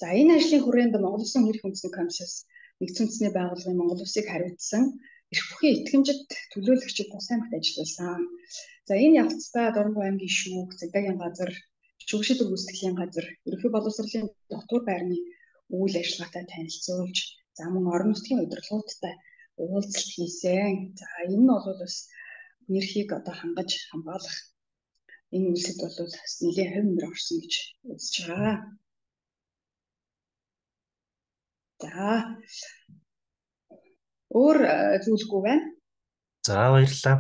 Speaker 3: За энэ ажлын хүрээнд Монгол Улсын хүний эрхийн үндэсний комиссаас нэгдсэн үндэсний байгууллагын Монгол Улсыг хариуцсан эрх бүхий итгэмжит төлөөлөгчид тус аймагт ажилласан. За энэ явцдаа Дорногов аймгийн шүүх, Цэгдагийн газар, Шүүгшидэр гүйцэтгэлийн газар, ерөнхий боловсролын дотор байрны үйл ажиллагаатай танилцуулж, за мөн орон нутгийн удирдлагуудтай уулзалт хийсэн. За энэ нь бол бас нэрхийг одоо хангаж хамгаалах энэ үйлсэд бол бас нэлээд хэв нэмэр орсон гэж үзэж байгаа. За өөр зүйлгүй байна.
Speaker 1: За баярлалаа.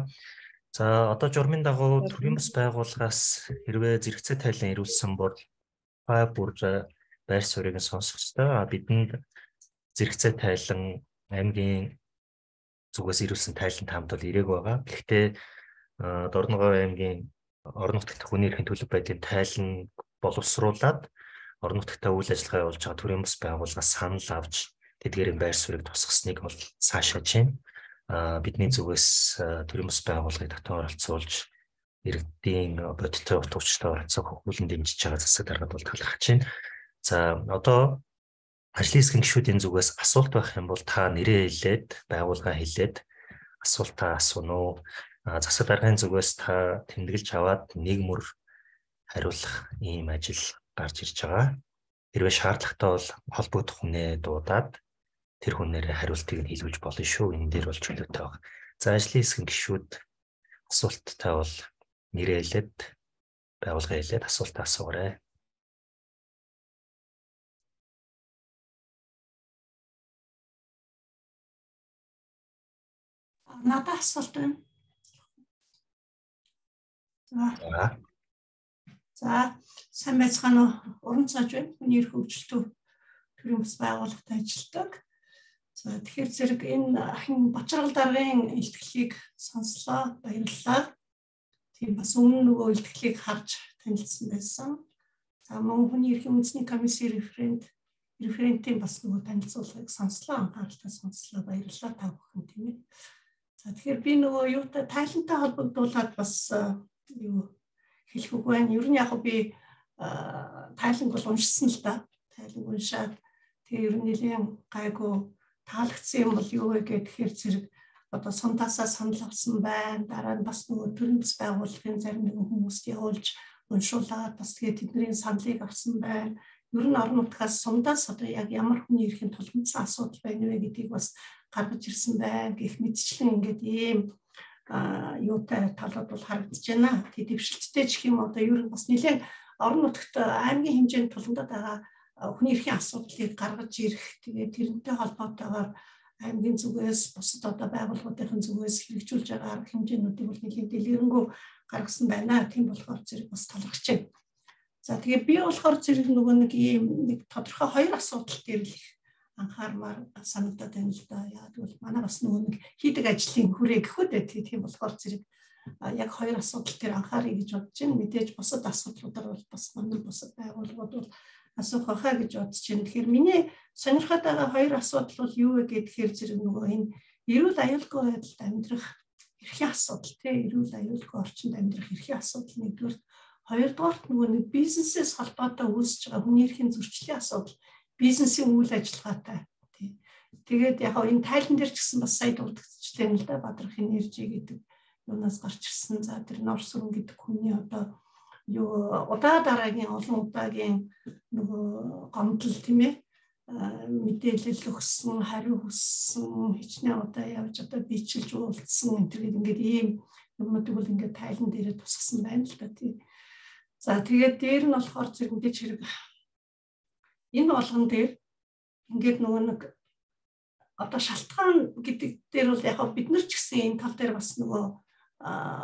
Speaker 1: За одоо журмын дагуу төрийн бас байгууллагаас хэрвээ зэрэгцээ тайлан ирүүлсэн бол та бүр байр суурийг сонсох ёстой. Бидэнд зэрэгцээ тайлан аймгийн зүгээс ирүүлсэн тайлан таамд бол ирээг байгаа. Гэхдээ Дорногов аймгийн орон нутагт хүний эрхийн төлөв байдлын тайлан боловсруулад орон нутагтаа үйл ажиллагаа явуулж байгаа төрийн бас байгууллагаас санал авч тэдгээрийн байр суурийг тусгасныг бол цаашааж байна. Бидний зүгээс төрийн бас байгууллагыг татан оролцуулж иргэдийн бодиттой утга учиртай оролцоог хөгжүүлэн дэмжиж байгаа засаг даргад бол талархаж байна. За одоо ажлын хэсгийн гишүүдийн зүгээс асуулт байх юм бол та нэрээ хэлээд байгууллага хэлээд асуултаа асууна уу? Засаг даргын зүгээс та тэмдэглэж аваад нэг мөр хариулах ийм ажил гарч ирж байгаа. Хэрвээ шаардлагатай бол холбогдох хүнээ дуудаад тэр хүнээрээ хариултыг нь хэлүүлж болно шүү. Энэ дээр бол чөлөөтэй байна. За ажлын хэсгийн гишүүд асуулттай бол нэрээ хэлээд байгууллага хэлээд асуултаа асуугаарай.
Speaker 4: Надад асуулт байна.
Speaker 1: За.
Speaker 4: За, сайн байцгаана уу? Уран цааж байна. Хүний эрх хөгжилтөв төрийн бас байгууллагад ажилладаг. За, тэгэхээр зэрэг энэ ахин Бачаргал даргын илтгэлийг сонслоо, баярлалаа. Тийм бас өмнө нөгөө илтгэлийг харж танилцсан байсан. За, мөн хүний эрхийн үндэсний комиссийн референт референтийн бас нөгөө танилцуулгыг сонслоо, анхааралтай сонслоо, баярлалаа та бүхэн тийм ээ. За, тэгэхээр би нөгөө юутай тайлантай холбогдуулаад бас юу хэлэх үг байна. Ер нь яг би тайланг бол уншсан л да. Тайланг уншаад тэгээ ер нь нэлийн гайгүй таалагдсан юм бол юу вэ гэхээр зэрэг одоо сундаасаа санал авсан байна. Дараа нь бас нөгөө төрийн бас байгууллагын зарим нэгэн хүмүүст явуулж уншуулаад бас тэгээ тэдний саналыг авсан байна. Ер нь орон нутгаас сундаас одоо яг ямар хүний эрхийн тулгымцсан асуудал байна вэ гэдгийг бас гаргаж ирсэн байна. Гэх мэтчлэн ингээд ийм а юутай талууд бол харагдаж байна. Тэгээ дэвшилттэй ч юм одоо ер нь бас нэлээд орон нутагт аймгийн хэмжээнд тулгамдаад байгаа хүний эрхийн асуудлыг гаргаж ирэх тэгээ тэрнтэй холбоотойгоор аймгийн зүгээс бусад одоо байгууллагуудын зүгээс хэрэгжүүлж байгаа арга хэмжээнүүдийг бол нэлээд дэлгэрэнгүй гаргасан байна. Тийм болохоор зэрэг бас талархаж байна. За тэгээ би болохоор зэрэг нөгөө нэг ийм нэг тодорхой хоёр асуудал дээр л анхаармаар санагдаад байна л да. Яагаад гэвэл манай бас нөгөө нэг хийдэг ажлын хүрээ гэхүүд ээ тийм болохоор зэрэг яг хоёр асуудал дээр анхаарыг гэж бодож байна. Мэдээж бусад асуудлуудаар бол бас манай бусад байгууллагууд бол асуух байхаа гэж бодож байна. Тэгэхээр миний сонирхоод байгаа хоёр асуудал бол юу вэ гэхээр зэрэг нөгөө энэ эрүүл аюулгүй байдалд амьдрах эрхийн асуудал тийм эрүүл аюулгүй орчинд амьдрах эрхийн асуудал нэгдүгээр, хоёрдугаар нөгөө нэг бизнесээс холбоотой үүсэж байгаа хүний эрхийн зөрчлийн асуудал бизнесийн үйл ажиллагаатай тий. Тэгээд яг энэ тайлан дээр ч гэсэн бас сая дурдчихлээ л да Бадрах энержи гэдэг юунаас гарч ирсэн. За тэр Нор сүрэн гэдэг хүний одоо юу удаа дараагийн олон удаагийн нөгөө гомдол тийм ээ мэдээлэл өгсөн, хариу хүссэн, хичнээн удаа явж одоо бичлж уулзсан энэ төргээд ингээд ийм юмнуудыг бол ингээд тайлан дээр тусгасан байна л да тий. За тэгээд дээр нь болохоор зэрэг мэдээж хэрэг энэ болгон дээр ингээд нөгөө нэг одоо шалтгаан гэдэг дээр бол яг бид нар ч гэсэн энэ тал дээр бас нөгөө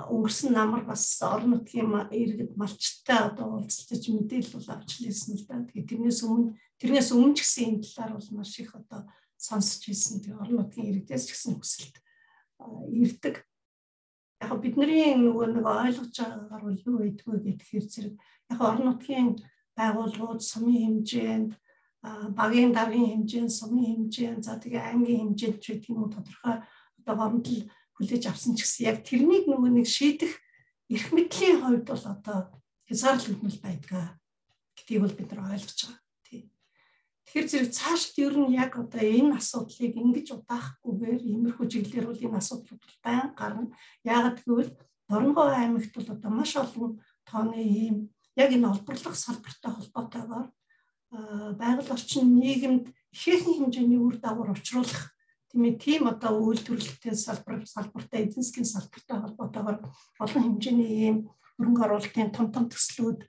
Speaker 4: өнгөрсөн намар бас орон нутгийн иргэд малчтай одоо уулзалтаж мэдээлэл бол авч лээсэн л да. Тэгээд тэрнээс өмнө тэрнээс өмнө ч гэсэн энэ талаар бол маш их одоо сонсч ирсэн. Тэгээд орон нутгийн иргэдээс ч гэсэн хүсэлт ирдэг. Яг бидний нөгөө нэг ойлгож байгаагаар бол юу байдгүй гэхээр зэрэг яг орон нутгийн байгууллагууд сумын хэмжээнд багийн даргын хэмжээнд сумын хэмжээнд за тэгээ аймгийн хэмжээнд ч гэх юм уу тодорхой одоо гомдол хүлээж авсан ч гэсэн яг тэрнийг нөгөө нэг шийдэх эрх мэдлийн хувьд бол одоо хязгаарлагдмал байдгаа гэдгийг бол бид нар ойлгож байгаа тийм. Тэгэхээр зэрэг цаашд ер нь яг одоо энэ асуудлыг ингэж удаахгүйгээр иймэрхүү чиглэлээр бол энэ асуудлууд байн гарна. Яагаад гэвэл Дорногов аймагт бол одоо маш олон тооны ийм яг энэ олборлох салбартай холбоотойгоор байгаль орчин нийгэмд ихээхэн хэмжээний үр дагавар учруулах тийм ээ тийм одоо үйлдвэрлэлтэй салбар салбартай эзэн засгийн салбартай холбоотойгоор олон хэмжээний ийм хөрөнгө оруулалтын том том төслүүд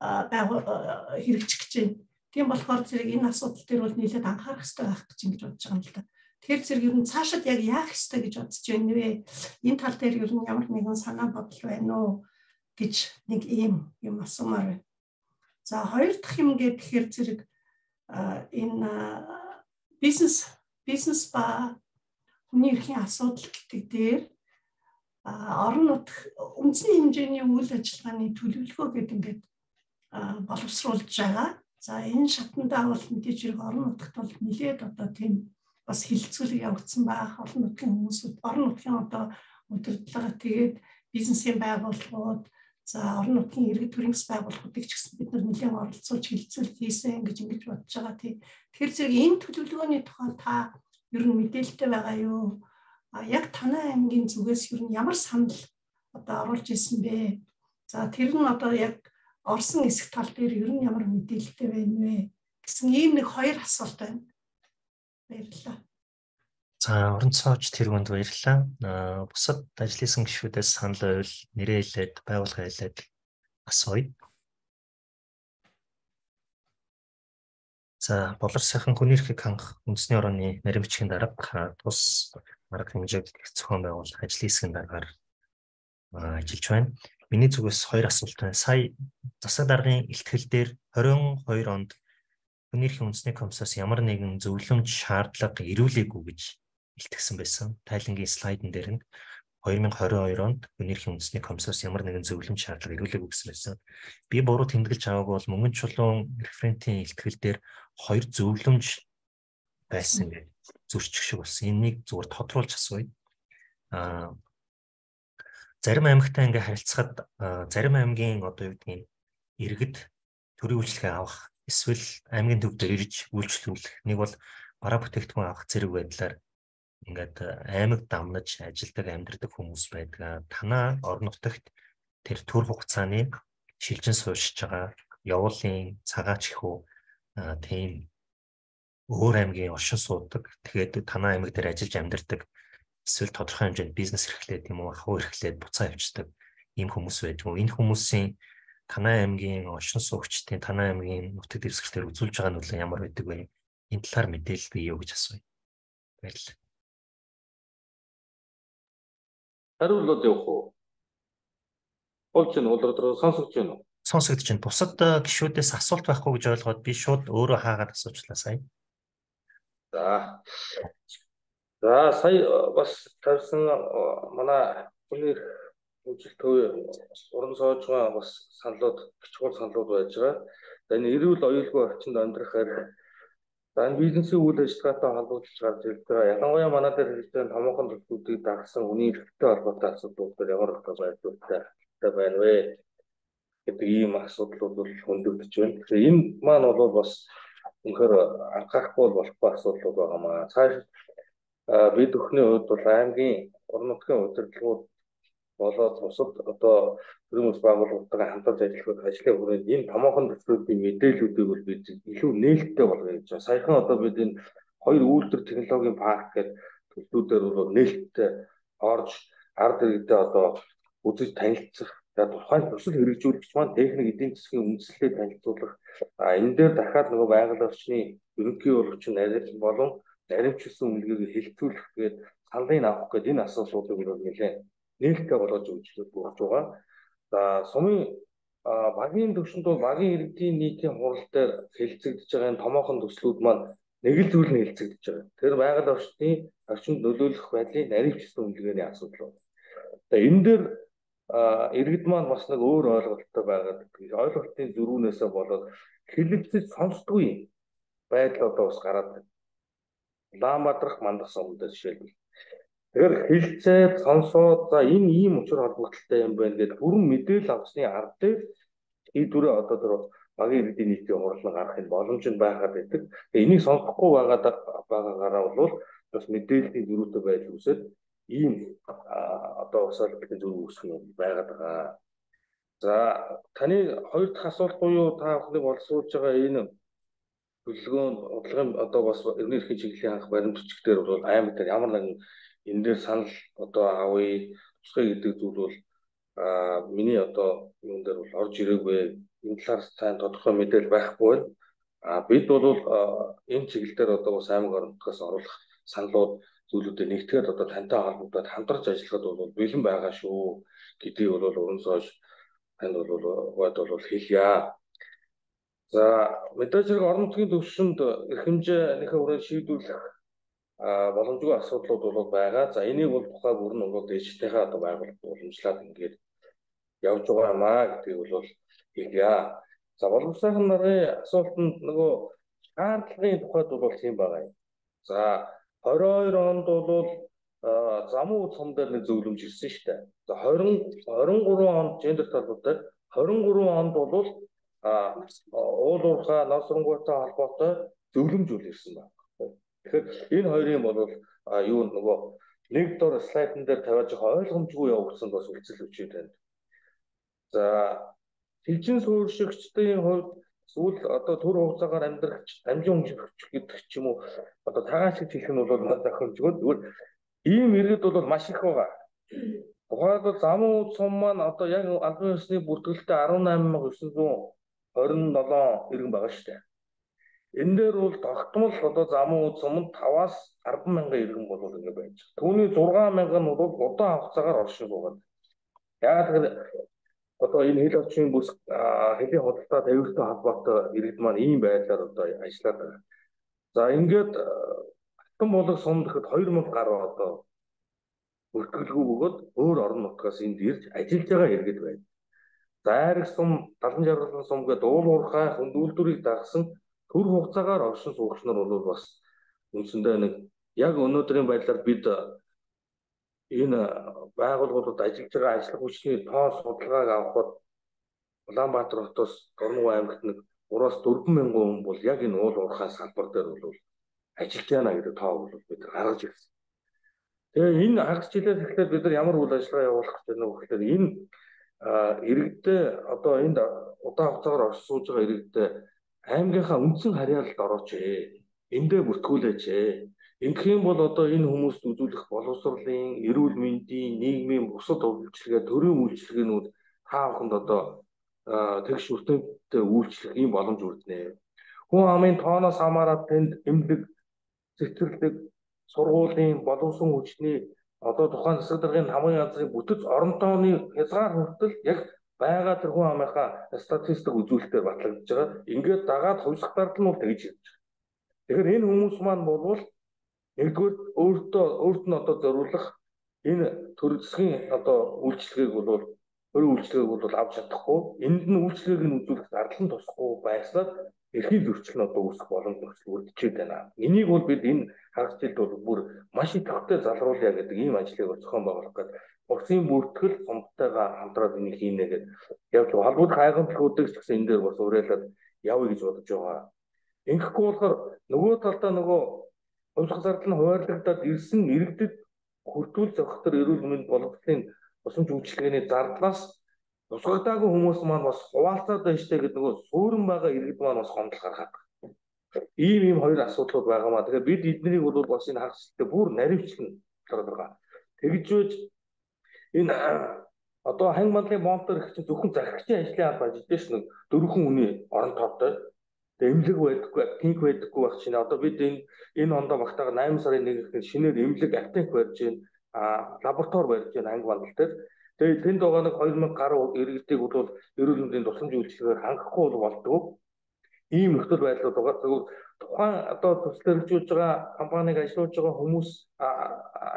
Speaker 4: хэрэгжих гэж байна. Тийм болохоор зэрэг энэ асуудал дээр бол нэлээд анхаарах хэрэгтэй байх гэж ингэж бодож байгаа юм л да. Тэгэхээр зэрэг ер нь цаашид яг яах ёстой гэж бодож байна вэ? Энэ тал дээр ер нь ямар нэгэн санаа бодол байна уу гэж нэг ийм юм асуумаар байна. За хоёр дахь юм гэхээр зэрэг энэ бизнес бизнес ба хүний эрхийн асуудал гэдэг дээр орон нутг үндэсний хэмжээний үйл ажиллагааны төлөвлөгөө гэдэг ингээд боловсруулж байгаа. За энэ шатндаа бол мэдээж хэрэг орон нутагт бол нэлээд одоо тийм бас хилцүүлэг явагдсан байх. Орон нутгийн хүмүүсүүд орон нутгийн одоо удирдлага тэгээд бизнесийн байгууллагууд за орон нутгийн иргэд төрийн бас байгууллагуудыг ч гэсэн бид нар нэлээд оролцуулж хилцүүлэг хийсэн гэж ингэж бодож байгаа тийм. Тэгэхээр зэрэг энэ төлөвлөгөөний тухай та ер нь мэдээлэлтэй байгаа юу? А яг танай аймгийн зүгээс ер нь ямар санал одоо оруулж ирсэн бэ? За тэр нь одоо яг орсон хэсэг тал дээр ер нь ямар мэдээлэлтэй байна вэ гэсэн ийм нэг хоёр асуулт байна. Баярлалаа.
Speaker 1: За орон цааж тэргүүнд баярлалаа. Бусад ажил хийсэн гишүүдээс санал байвал нэрээ хэлээд байгууллага хэлээд асууя. За болор сайхан хүний эрхийг хангах үндэсний орооны нарийн бичгийн дарга тус арга хэмжээг зохион байгуулах ажлын хэсгийн дараагаар ажиллаж байна. миний зүгээс хоёр асуулт байна. Сая засаг даргын илтгэл дээр хорин хоёр онд хүний эрхийн үндэсний комиссаас ямар нэгэн зөвлөмж шаардлага ирүүлээгүй гэж илтгэсэн байсан. Тайлангийн слайдн дээр нь хоёр мың хорин хоёр онд хүний эрхийн үндэсний комиссаас ямар нэгэн зөвлөмж шаардлага ирүүлээгүй гэсэн байсан. Би буруу тэмдэглэж аваагүй бол мөнгөн чулуун референтийн илтгэл дээр хоёр зөвлөмж байсан гэж зөрчих шиг болсон. Энийг зүгээр тодруулж асууя. Аа зарим аймагтай ингээ харилцахад зарим аймгийн одоо юу гэдгийг иргэд төрийн үйлчлэгээ авах эсвэл аймгийн төв дээр ирж үйлчлүүлэх, нэг бол бараа бүтээгдэхүүн авах зэрэг байдлаар ингээд аймаг дамнаж ажилдаг амьдардаг хүмүүс байдаг. Танаа орон нутагт тэр төр хугацааны шилжин суурьшиж байгаа явуулын цагаач ихүү тийм өөр аймгийн оршин суудаг. Тэгээд танаа аймаг дээр ажиллаж амьдардаг эсвэл тодорхой хэмжээнд бизнес эрхлээд юм уу, ахуй эрхлээд буцаа авчдаг ийм хүмүүс байдаг. Энэ хүмүүсийн танай аймгийн оршин суугчдын танай аймгийн нутаг дэвсгэртээр үзүүлж байгаа нөлөө ямар байдаг вэ? Энэ талаар мэдээлэл бий юу гэж асууя. Баярлалаа.
Speaker 2: Хариулт явах уу? Болж байна уу? Улирдроо сонсогдож байна уу?
Speaker 1: Сонсогдож байна. Бусад гишүүдээс асуулт байхгүй гэж ойлгоод би шууд өөрөө хаагаад асуучлаа сая.
Speaker 2: За. За сая бас тавьсан манай хүний үжил төв уран соожгаа бас саналууд, чухал саналууд байж байгаа. За энэ эрүүл оюулгүй орчинд амьдрахаар за энэ бизнесийн үйл ажиллагаатай холбогдож гарч ирж байгаа. Ялангуяа манай дээр хэрэгтэй томоохон төлөвлөлтийг дагсан хүний эрхтэй холбоотой асуудлууд дээр ямар их байдалтай байна вэ гэдэг ийм асуудлууд бол хөндөгдөж байна. Тэгэхээр энэ маань бол бас үнэхээр анхаарахгүй болохгүй асуудлууд байгаа маа. Цааш бид өхний хувьд бол аймгийн орон нутгийн удирдлагууд болоод бусад одоо төрийн улс байгууллагуудтай хамтарч ажиллах ажлын хүрээнд энэ томоохон төслүүдийн мэдээллүүдийг бол бид илүү нээлттэй болгоё гэж байна. Саяхан одоо бид энэ хоёр үйлдвэр технологийн парк гэдэг төслүүдээр бол нээлттэй орж ард иргэдэд одоо үзэж танилцах, тухайн төсөл хэрэгжүүлэгч маань техник эдийн засгийн үндэслэлээ танилцуулах, энэ дээр дахиад нөгөө байгаль орчны ерөнхий урагчин нарийн болон наримчилсан үнэлгээг хэлцүүлэх гээд саналыг авах гээд энэ асуудлуудыг бол нэлээд нээлттэй болгож өгч болж байгаа. За сумын багийн төвшөнд бол багийн иргэдийн нийтийн хурал дээр хэлцэгдэж байгаа энэ томоохон төслүүд маань нэг л зүйл нь хэлцэгдэж байгаа. Тэр байгаль орчны орчинд нөлөөлөх байдлын наримчилсан үнэлгээний асуудал. За энэ дээр иргэд маань бас нэг өөр ойлголттой байгаад ойлголтын зөрүүнээсээ болоод хэлэлцэж сонсдгүй байдал одоо бас гараад байна. Улаанбаатарх мандах сумдаа жишээлбэл. Тэгэхээр хэлцээд сонсоод за энэ ийм учир холбогдолтой юм байна гэдэг бүрэн мэдээлэл авсны ард дээр ийдвэрээ одоо тэр багийн иргэдийн нийтийн хурлын гаргахын боломж нь байгаад байдаг. Энийг сонсохгүй байгаад байгаагаараа бол бас мэдээллийн зөрүүтэй байдал үүсээд ийм одоо усаалбарын зөрүү үүсэх нь байгаад байгаа. За таны хоёр дахь асуулт буюу та бүхнийг боловсруулж байгаа энэ төлөвлөгөөнд бодлогын одоо бас эрдэнэ эрхийн чиглэлийн анх баримт бичгээр бол аймаг дээр ямар нэгэн энэ дээр санал одоо авъя тусгай гэдэг зүйл бол а миний одоо юун дээр бол орж ирээгүй. Энэ талаар сайн тодорхой мэдээлэл байхгүй байна. А бид бол энэ чиглэл дээр одоо бас аймаг орон нутгаас оруулах саналууд зүйлүүдэд нэгтгэхэд одоо тантай холбогдоод хамтарч ажиллахад бол бэлэн байгаа шүү гэдгийг бол уран сууж танд бол гоод бол хэлье. За мэдээж хэрэг орон нутгийн төвшөнд эрх хэмжээнийхээ хүрээнд шийдвэрлэх боломжгүй асуудлууд бол байгаа. За энийг бол тухай бүр нь бол дэжигтэйхээ одоо байгуулалт уламжлаад ингээд явж байгаа юм аа гэдгийг бол хэлье. За боловсролын нарын асуултанд нөгөө шаардлагын тухайд бол тийм байгаа юм. За хорин хоёр онд бол замун цом дээр нэг зөвлөмж ирсэн шүү дээ. За двадцать двадцать гурван онд гендер талбартай двадцать гурван онд бол а уул уурхай нар сургуультай холбоотой зөвлөмж үл ирсэн байна. Тэгэхээр энэ хоёрын бол юу нөгөө нэг дор слайдн дээр тавиаж байгаа ойлгомжгүй явагдсан бас үлцэл өчөө танд. За шилжин суурьшигчдын хувьд сүүл одоо төр хугацаагаар амьдрах амжин өмжих гэдэг ч юм уу одоо тагаан шиг хэлэх нь бол зохиомжгүй. Тэгвэл ийм иргэд бол маш их байгаа. Тухайлбал замун цум маань одоо яг албан ёсны бүртгэлтэй арван найман мянган девин жүз хорин седем иргэн байгаа шүү дээ. Энэ дээр бол тогтмол одоо замун цумд таваас арван мянган иргэн бол ингэ байж. Түүний зургаан мянган нь бол удаан хугацаагаар оршин суугаад. Яг тэгэхээр одоо энэ хэл орчмын бүс хэлийн худалдаа тавилттай холбоотой иргэд маань ийм байдлаар одоо ажиллаад байгаа. За ингээд Алтан булаг сум гэхэд хоёр мянга гаруй одоо бүртгэлгүй бөгөөд өөр орон нутгаас энд ирж ажиллаж байгаа иргэд байна. За айраг сум, Далан жаргалан сум гэдэг уул уурхай хөндүүлдүрийг дагсан төр хугацаагаар оршин суугч нар бол бас үндсэндээ нэг яг өнөөдрийн байдлаар бид энэ байгууллагуудад ажиллаж байгаа ажлын хүчний тоо судалгааг авахад Улаанбаатар хотоос Дорнов аймагт нэг гураас дөрвөн мянган хүн бол яг энэ уул уурхай салбар дээр бол ажиллаж байна гэдэг тоо бол бид гаргаж ирсэн. Тэгээ энэ хагас жилээс эхлээд бид нар ямар үйл ажиллагаа явуулах гэж байна вэ гэхээр энэ иргэдээ одоо энд удаан хугацаагаар оршин сууж байгаа иргэдээ аймгийнхаа үндсэн харьяалалд орооч ээ. Эндээ бүртгүүлээч ээ. Ингэх юм бол одоо энэ хүмүүст үзүүлэх боловсролын, эрүүл мэндийн, нийгмийн бусад үйлчилгээ, төрийн үйлчилгээнүүд тааханд одоо тэгш үртэнтэй үйлчлэх ийм боломж үрдэнэ. Хүн амын тооноос хамаарат тэнд эмнэлэг, цэцэрлэг, сургуулийн, боловсон хүчний одоо тухайн засаг даргын хамгийн газрын бүтэц орон тооны хязгаар хүртэл яг байгаа тэр хүн амынхаа статистик үзүүлэлтээр батлагдж байгаа. Ингээд дагаад хувьсах дардал нь бол тэгж ирж байгаа. Тэгэхээр энэ хүмүүс маань болвол нэгдүгээр өөртөө өөрт нь одоо зориулах энэ төр засгийн одоо үйлчлэгийг бол өөр үйлчлэгийг бол авч чадахгүй. Энд нь үйлчлэгийг нь үзүүлэх зардал нь тусахгүй байснаар эрхийн зөрчил нь одоо үүсэх боломж бүрдчихэд байна. Энийг бол бид энэ хагас жилд бол бүр маш идэвхтэй залруулъя гэдэг ийм ажлыг зохион байгуулах гэдэг. Урсын бүртгэл сумтайгаа хамтраад энийг хийнэ гэдэг. Яг л холбогдох хайгамтлагуудыг ч гэсэн энэ дээр бас уриалаад явъя гэж бодож байгаа. Ингэхгүй болохоор нөгөө талдаа нөгөө хувьсгал зардал нь хуваарлагдаад ирсэн иргэдэд хүртүүл зохицол эрүүл мэнд боловсролын тусламж үйлчилгээний зардлаас тусгагдаагүй хүмүүс маань бас хуваалцаад байна штэ гэдэг нөгөө суурин байгаа иргэд маань бас гомдол гаргаад байна. Ийм ийм хоёр асуудлууд байгаамаа. Тэгэхээр бид эднийг бол бас энэ хагастай бүр наривчлан гараад байгаа. Тэгж байж энэ одоо ханг мандлын бомбтор их чинь зөвхөн захирагчийн ажлын алба ажиллаж ш нэг дөрвөн хүний орон тоотой. Эмнэлэг байдаггүй, аптек байдаггүй байх чинь одоо бид энэ энэ ондоо багтаага найман сарын нэгнээс шинээр эмнэлэг аптек барьж байна, а лаборатори барьж байна анги бандал дээр. Тэгээд тэнд байгаа нэг хоёр мянга гаруй иргэдийг бол эрүүл мэндийн тусламж үйлчилгээгээр хангахгүй бол болдгоо. Ийм нөхцөл байдлууд байгаа. Тэгвэл тухайн одоо төсөл хэрэгжүүлж байгаа компаниг ажиллуулж байгаа хүмүүс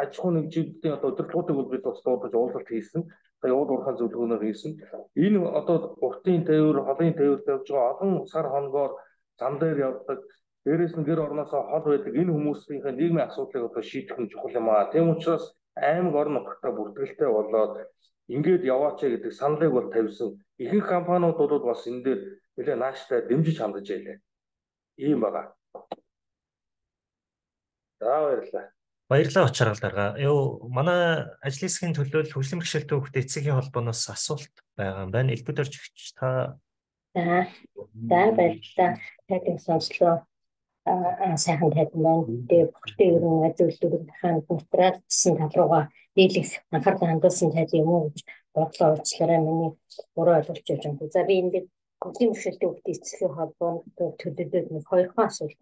Speaker 2: аж ахуй нэгжүүдийн одоо удирдлагуудыг бол бид бас дуудаж уулзалт хийсэн. Тэгээ уул уурхай зөвлөгөөнөөр хийсэн. Энэ одоо уртын тээвэр, холын тээвэр тавьж байгаа олон сар хоногоор зам дээр явдаг. Дээрээс нь гэр орноосоо хол байдаг энэ хүмүүсийн нийгмийн асуудлыг одоо шийдэх нь чухал юм аа. Тийм учраас аймаг орон нутгатаа бүртгэлтэй болоод ингээд яваач гэдэг саналыг бол тавьсан. Ихэнх компаниуд бол бас энэ дээр нэлээ нааштай дэмжиж хандаж байлаа. Ийм байгаа. За баярлалаа.
Speaker 1: Баярлалаа очрал дарга. Юу манай ажлын хэсгийн төлөөлөл хөгжлийн бэрхшээлтэй хүүхдийн эцгийн холбооноос асуулт байгаа юм байна. Элбэг дөржигч та.
Speaker 5: За. За баярлалаа. Тайлбар сонслоо. Аа сайхан тайлбар байна. Тэгээ бүхэлдээ ерөн зөвлөлтүүд хаана материалсан тал руугаа дийлэх анхаарал хандуулсан тал юм уу гэж бодлоо уучлаарай миний буруу ойлгож байна. За би ингээд хөгжлийн бэрхшээлтэй хүүхдийн эцгийн холбооны төлөөлөлд нэг хоёр хон асуулт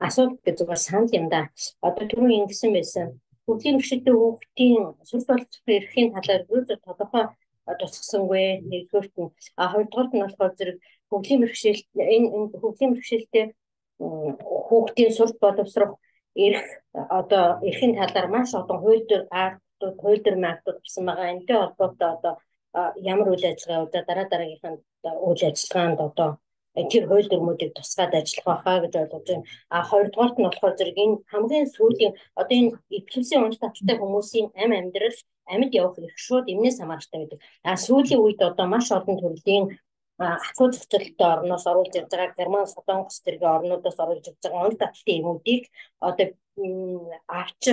Speaker 5: асуулт гэж зүгээр санал юм да. Одоо түрүү ингэсэн байсан. Хөгжлийн бэрхшээлтэй хүүхдийн сүрс боловсрол эрхийн талаар юу ч тодорхой тусгасангүй. Нэгдүгээрт нь а хоёрдугаарт нь болохоор зэрэг хөгжлийн бэрхшээл энэ хөгжлийн бэрхшээлтэй хүүхдийн сүрс боловсрол эрх одоо эрхийн талаар маш олон хууль дээр актууд, хууль дээр актууд гарсан байгаа. Энэтэй холбоотой одоо ямар үйл ажиллагаа удаа дараа дараагийнханд үйл ажиллагаанд одоо тэр хууль дүрмүүдийг тусгаад ажиллах байхаа гэж ойлгож байна. А хоёрдугаарт нь болохоор зэрэг энэ хамгийн сүүлийн одоо энэ эпилепсийн унж таталтай хүмүүсийн амь амьдрал амьд явах эрх шууд эмнээс хамааралтай гэдэг. А сүүлийн үед одоо маш олон төрлийн ахуй зохицолтой орноос оруулж ирж байгаа Герман, Солонгос зэрэг орнуудаас оруулж ирж байгаа унж таталтын эмүүдийг одоо авч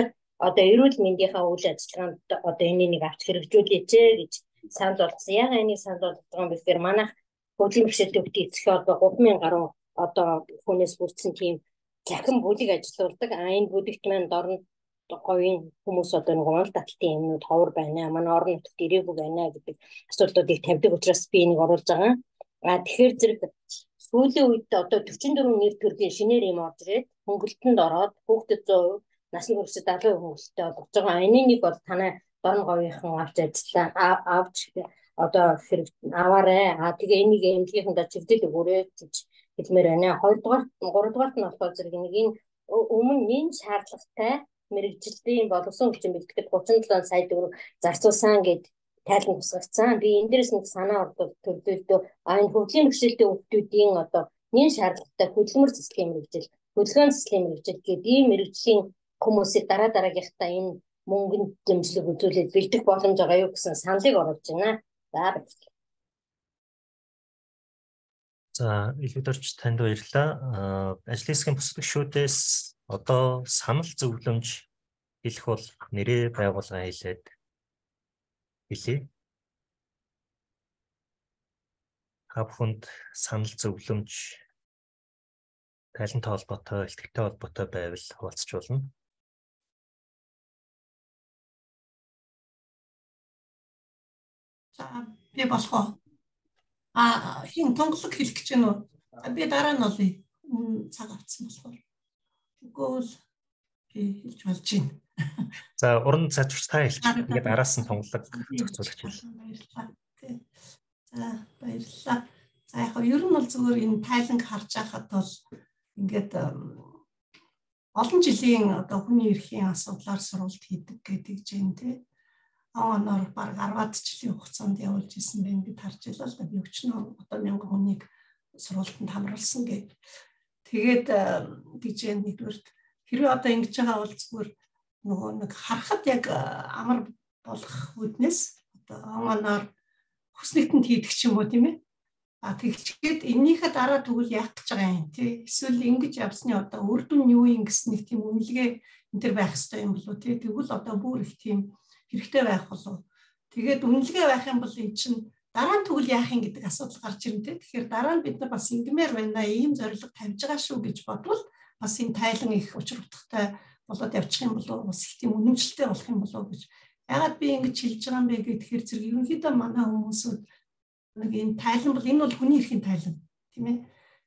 Speaker 5: одоо эрүүл мэндийнхаа үйл ажиллагаанд одоо энийг авч хэрэгжүүлээч гэж санал болгосон. Яг энийг санал болгож байгаа юм бэхээр манайх хөгжлийн бэрхшээлтэй хүүхдийн эцгийн холбоо гурван мянган гаруй одоо хүнээс бүрдсэн тийм захин бүлэг ажиллаулдаг. А энэ бүлэгт маань дорн говийн хүмүүс одоо нэг унж таталтын эмнүүд ховор байна. Манай орон нутагт ирээгүй байна гэдэг асуудлуудыг тавьдаг учраас би энийг оруулж байгаа. А тэгэхээр зэрэг сүүлийн үед одоо дөрвөн дөрвөн нэр төрлийн шинээр юм орж ирээд хөнгөлтөнд ороод хүүхдэд зуун хувь насны хүрээсээ залуу хөнгөлттэй болж байгаа. Энийг бол танай дорн говийнхан авч ажиллаа авч одоо хэрэг аваарай. А тэгээ энийг эмнэлгийнхэнтэй чивдэл өгөөрэй гэж хэлмээр байна. Хоёрдугаар, гуравдугаар нь болохоор зэрэг нэг энэ өмнө энэ шаардлагатай мэрэгжилтийн боловсон хүчин бэлтгэхэд гучин и долоо сая төгрөг зарцуулсан гэд тайлан тусгацсан. Би энэ дээрээс нэг санаа ордог төрлөлтөө а энэ хөгжлийн бэрхшээлтэй хүүхдүүдийн одоо нэн шаардлагатай хөдөлмөр цэцлийн мэрэгжил, хөдөлгөөн цэцлийн мэрэгжил гэдэг ийм мэрэгжлийн хүмүүсийг дараа дараагийнхтаа энэ мөнгөнд дэмжлэг үзүүлээд бэлдэх боломж байгаа юу гэсэн саналыг оруулж байна. За баярлалаа.
Speaker 1: За илүүдэрч танд баярлалаа. Ажлын хэсгийн бусад гишүүдээс одоо санал зөвлөмж хэлэх бол нэрээ байгуулгын хэлээд хэлье. Та бүхэнд санал зөвлөмж талент холбоотой, ихтэй холбоотой байвал хуваалцж болно.
Speaker 4: За би болох уу? А хин тонглог хэлэх гэж байна уу? Би дараа нь олъё. Цаг авцсан болохоор. Тэгвэл би хэлж болж байна.
Speaker 1: За уран цаашч та хэлчих. Тэгээд араас нь тонглог зохицуулагч хэл.
Speaker 4: Баярлалаа. За баярлалаа. За яг нь ер нь бол зүгээр энэ тайланг харж байхад бол ингээд олон жилийн одоо хүний эрхийн асуудлаар сурвалт хийдэг гэдэг чинь тий. Оноор баг арваад жилийн хугацаанд явуулж исэн байх гэж харж байлаа л да. Би өчнөө одоо мянган хүнийг сурвалтанд хамруулсан гэдэг. Тэгээд гэж нэгдүгээр хэрвээ одоо ингэж байгаа бол зүгээр нөгөө нэг харахад яг амар болох үднэс одоо оноор хүснэгтэнд хийдэг ч юм уу тийм ээ. А тэгчгээд эннийхээ дараа тэгвэл яах гэж байгаа юм тий. Эсвэл ингэж явсны одоо үр дүн юу юм гэсэн нэг тийм үнэлгээ энэ төр байх хэрэгтэй юм болов тий. Тэгвэл одоо бүр их тийм хэрэгтэй байх болов. Тэгээд үнэлгээ байх юм бол эн чинь дараа нь тэгвэл яах юм гэдэг асуудал гарч ирнэ тий. Тэгэхээр дараа нь бид нар бас ингэмээр байна, ийм зорилго тавьж байгаа шүү гэж бодвол бас энэ тайлан их учир утгатай болоод явчих юм болов. Бас их тийм үнэмшилтэй болох юм болов гэж. Ягаад би ингэж хэлж байгаа юм бэ гэхээр зэрэг ерөнхийдөө манай хүмүүсүүд нэг энэ тайлан бол энэ бол хүний эрхийн тайлан тийм ээ.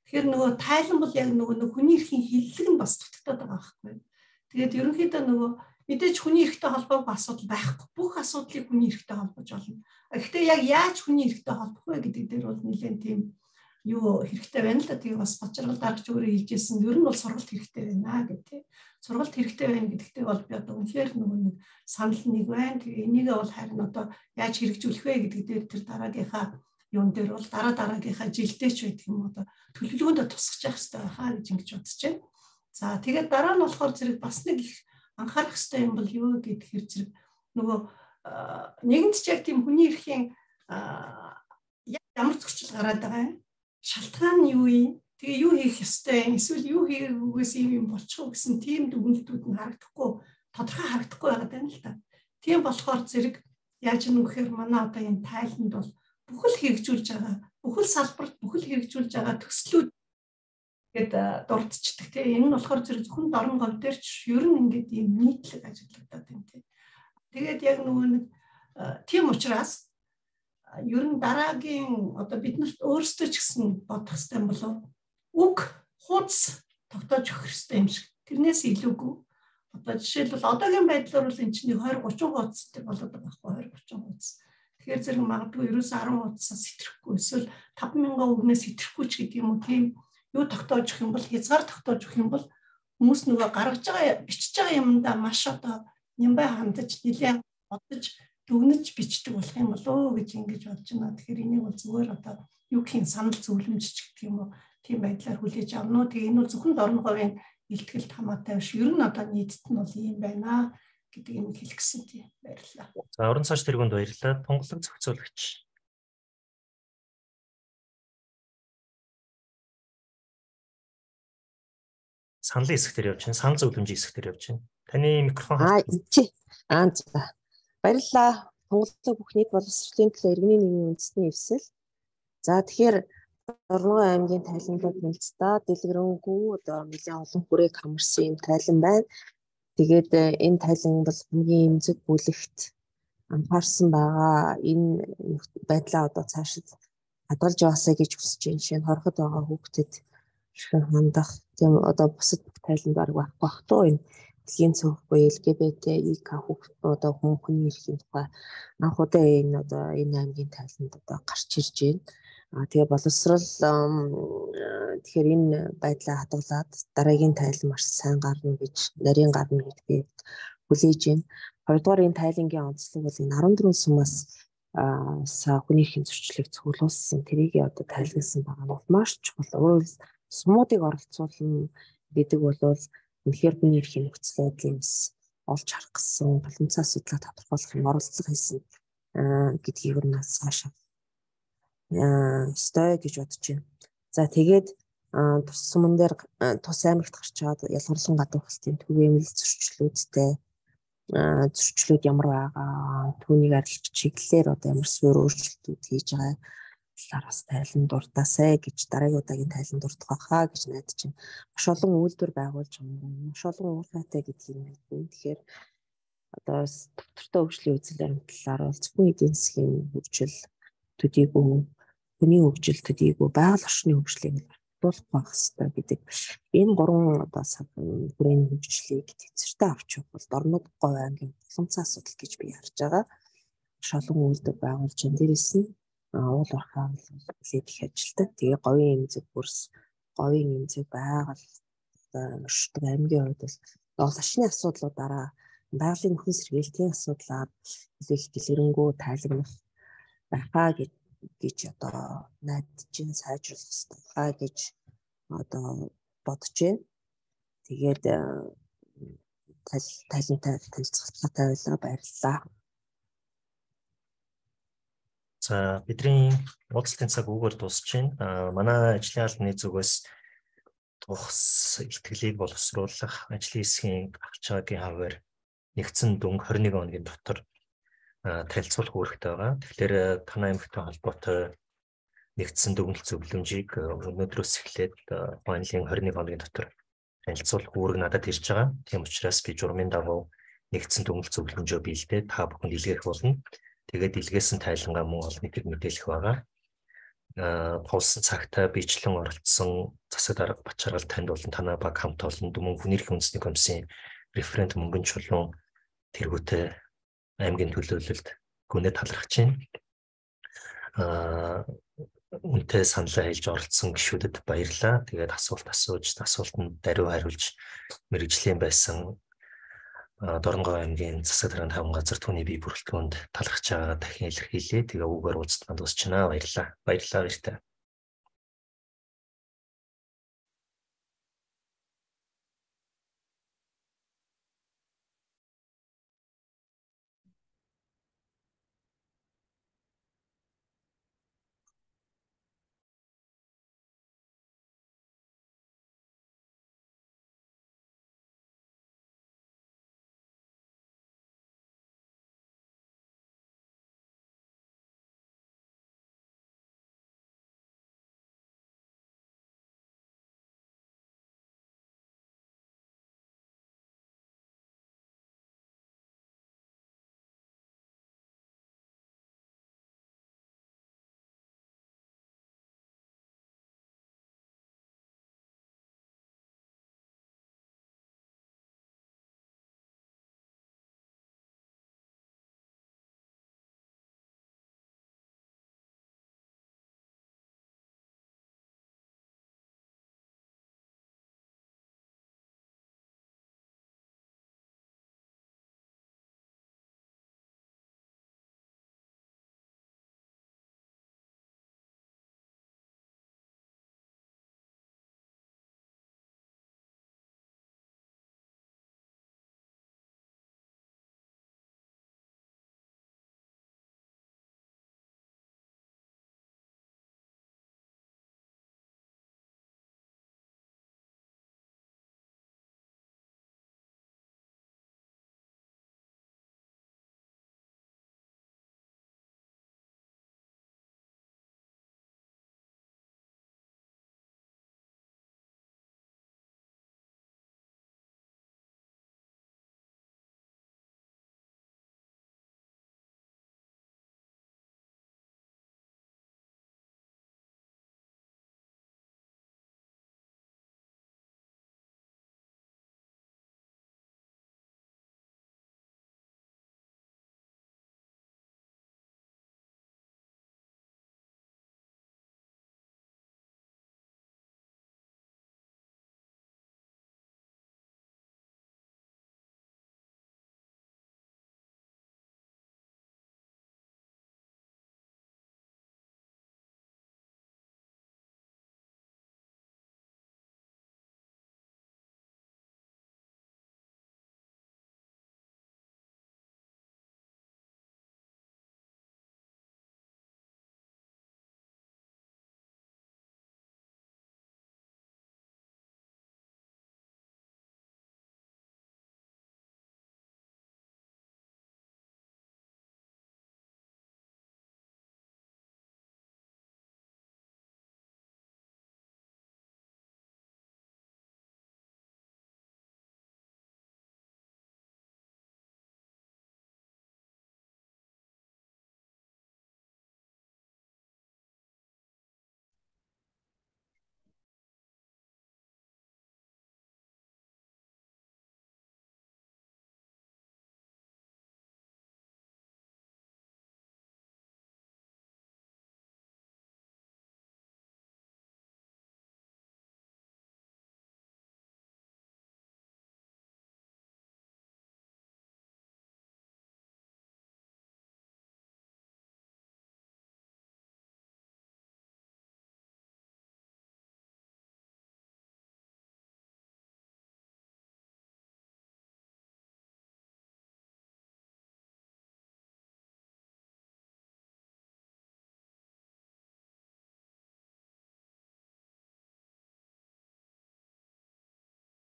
Speaker 4: Тэгэхээр нөгөө тайлан бол яг нөгөө нэг хүний эрхийн хиллэг нь бас дутагдаад байгаа байхгүй. Тэгээд ерөнхийдөө нөгөө мэдээж хүний эрхтэй холбоогүй асуудал байхгүй. Бүх асуудлыг хүний эрхтэй холбож болно. Гэхдээ яг яаж хүний эрхтэй холбох вэ гэдэг дээр бол нэлээд тийм юу хэрэгтэй байна л да. Тэгээ бас бочрол дарагч өөрөө хэлжсэн. Ер нь бол сургалт хэрэгтэй байна гэдэг. Сургалт хэрэгтэй байна гэдэгтээ бол би одоо үнэхээр нөгөө нэг санал нэг байна. Тэгээ энийгээ бол харин одоо яаж хэрэгжүүлэх вэ гэдэг дээр тэр дараагийнхаа юун дээр бол дараа дараагийнхаа жилдээч байдаг юм одоо төлөвлөгөөндөө тусгаж явах хэрэгтэй байхаа гэж ингэж бодож байна. За тэгээд дараа нь болохоор зэрэг бас нэг их анхаарах хэрэгтэй юм бол юу гэхээр зэрэг нөгөө нэгэнт ч яг тийм хүний эрхийн ямар зөрчил гараад байгаа юм. Шалтгаан нь юу юм? Тэгээ юу хийх ёстой юм? Эсвэл юу хийгээс юм болчих уу гэсэн тийм дүгнэлтүүд нь харагдахгүй, тодорхой харагдахгүй байгаа юм л да. Тийм болохоор зэрэг яаж юм гэхээр манай одоо энэ тайланд бол бүхэл хэрэгжүүлж байгаа, бүхэл салбарт бүхэл хэрэгжүүлж байгаа төслүүд гэдэг дурдчихдаг тийм. Энэ нь болохоор зэрэг зөвхөн дорн гол дээр ч ер нь ингээд ийм нийтлэг ажиглагдаад байна тийм. Тэгээд яг нөгөө нэг тийм учраас ер нь дараагийн одоо биднэрт өөрсдөө ч гэсэн бодох хэрэгтэй юм болов. Үг хуудас тогтоож өгөх хэрэгтэй юм шиг. Тэрнээс илүүгүй. Одоо жишээлбэл одоогийн байдлаар бол энэ чинь двадцать тридцать хуудастай болоод байгаа байхгүй двадцать тридцать хуудас. Тэгэхээр зэрэг магадгүй ерөөсөө десять хуудасаас сэтэрэхгүй эсвэл five thousand үгнээс сэтэрэхгүй ч гэдэг юм уу тийм юу тогтоож өгөх юм бол хязгаар тогтоож өгөх юм бол хүмүүс нөгөө гаргаж байгаа бичиж байгаа юмдаа маш одоо нямбай хандаж нэлээд бодож дүгнэж бичдэг болох юм болоо гэж ингэж бодож байна. Тэгэхээр энийг бол зүгээр одоо юу гэх юм санал зөвлөмж ч гэх юм уу тийм байдлаар хүлээж авна уу. Тэгээ энэ бол зөвхөн дорн говийн илтгэлд хамаатай биш. Ер нь одоо нийтэд нь бол ийм байна гэдэг юм хэлэх гэсэн тийм баярлалаа.
Speaker 1: За уран цааш тэргуунд баярлалаа. Тунгалаг зохицуулагч. Саналын хэсэг дээр явж байна. Санал зөвлөмжийн хэсэг дээр явж байна. Таны микрофон
Speaker 6: Аа чи аа за. Баярлалаа. Тунгалаг бүх нийт боловсролын төлөө иргэний нийгмийн үндэсний эвсэл. За тэгэхээр Дорногов аймгийн тайланлууд нэлцтэй дэлгэрэнгүй одоо нэлээд олон хүрээг хамарсан юм тайлан байна. Тэгээд энэ тайлан бол хамгийн эмзэг бүлэгт анхаарсан байгаа. Энэ байдлаа одоо цаашид хадгалж яваасаа гэж хүсэж байна. Шинэ хорход байгаа хүүхдэд хэрхэн хандах тийм одоо бусад тайланд арга байхгүй бах туу энэ дэлхийн цөөхгүй эл гэ бэ тэ и ка одоо хүмүүний эрхийн тухай анх удаа энэ одоо энэ аймгийн тайланд одоо гарч ирж байна. А тэгээ боловсрал тэгэхээр энэ байдлаа хадгалаад дараагийн тайлан маш сайн гарна гэж нарийн гарна гэдгийг хүлээж байна. Хоёрдугаар энэ тайлангийн онцлог бол энэ арван дөрвөн сумаас са хүний эрхийн зөрчлийг цуглуулсан тэрийг одоо тайлгсан байгаа нь маш чухал. Өөрөөр сумуудыг оролцуулна гэдэг бол үнэхээр хүний эрхийн нөхцөл байдлаас олж харах гэсэн боломжтой асуудлаа тодорхойлох оролцох хийсэн гэдгийг нь цаашаа стой гэж бодож байна. За тэгээд тус суман дээр тус аймагт гарч чад ялгарлан гадуур халтын түгээмэл зөрчлүүдтэй зөрчлүүд ямар байгаа түүнийг арилж чиглэлээр одоо ямар суурь өөрчлөлтүүд хийж байгаа талаар бас тайлан дуртаасай гэж дараагийн удаагийн тайлан дурдах байхаа гэж найдаж байна. Маш олон үйлдвэр байгуулж байгаа юм. Маш олон уурхайтай гэдгийг мэднэ. Тэгэхээр одоо доктортой хөгжлийн үзэл баримтлалаар бол зөвхөн эдийн засгийн хөгжил төдийгүй хүний хөгжил төдийгүй байгаль орчны хөгжлийг батлуулах байх хэрэгтэй гэдэг. Энэ гурван одоо бүрийн хөгжлийг тэнцвэртэй авч явах бол Дорнод говь аймгийн боломжтой асуудал гэж би харж байгаа. Маш олон үйлдвэр байгуулж энэ дээрээс нь уул уурхай үлээд их ажилтдаг. Тэгээ говийн эмзэг бүрс, говийн эмзэг байгаль оршдог аймгийн хувьд бол лашны асуудлуудаараа байгалийн нөхөн сэргээлтийн асуудлаар их дэлгэрэнгүй тайлагнах байхаа гэж гэж одоо найдаж чинь сайжруулах хэрэгтэй гэж одоо бодож байна. Тэгээд талантай танилцуулгатай байлаа, баярлалаа.
Speaker 1: За бидний уулзалтын цаг үгээр дуусч байна. Манай ажлын албаны зүгээс тухс ихтгэлийг боловсруулах ажлын хэсгийн авч байгаагийн хавар нэгдсэн дүнг хорин нэг хоногийн дотор танилцуулах үүрэгтэй байгаа. Тэгэхээр танай аймагтай холбоотой нэгдсэн дүгнэлт зөвлөмжийг өнөөдрөөс эхлээд файнлын хорин нэг хоногийн дотор танилцуулах үүрэг надад ирж байгаа. Тийм учраас би журмын дагуу нэгдсэн дүгнэлт зөвлөмжөө биелдээ та бүхэн илгээх болно. Тэгээд илгээсэн тайлангаа мөн олон нийтэд мэдээлэх байгаа. Аа тулсан цагтаа бичлэн оролцсон засаг дарга Бачаргал танд болон танай баг хамт олон Дүмэн хүний эрхийн үндэсний комиссийн референт Мөнгөн Чулуун тэргүүтэй аймгийн төлөөлөлд гүнээ талархаж байна. Аа үнтэй саналаа хэлж оролцсон гишүүдэд баярлалаа. Тэгээд асуулт асууж, асуултанд даруй хариулж мэргэжлийн байсан Дорногов аймгийн засаг дарганы таван газар түүний бие бүрэлдэхүүнд талархаж байгаа дахин илэрхийлье. Тэгээ үгээр уулзтанд дуусчихна. Баярлалаа. Баярлалаа баяртай.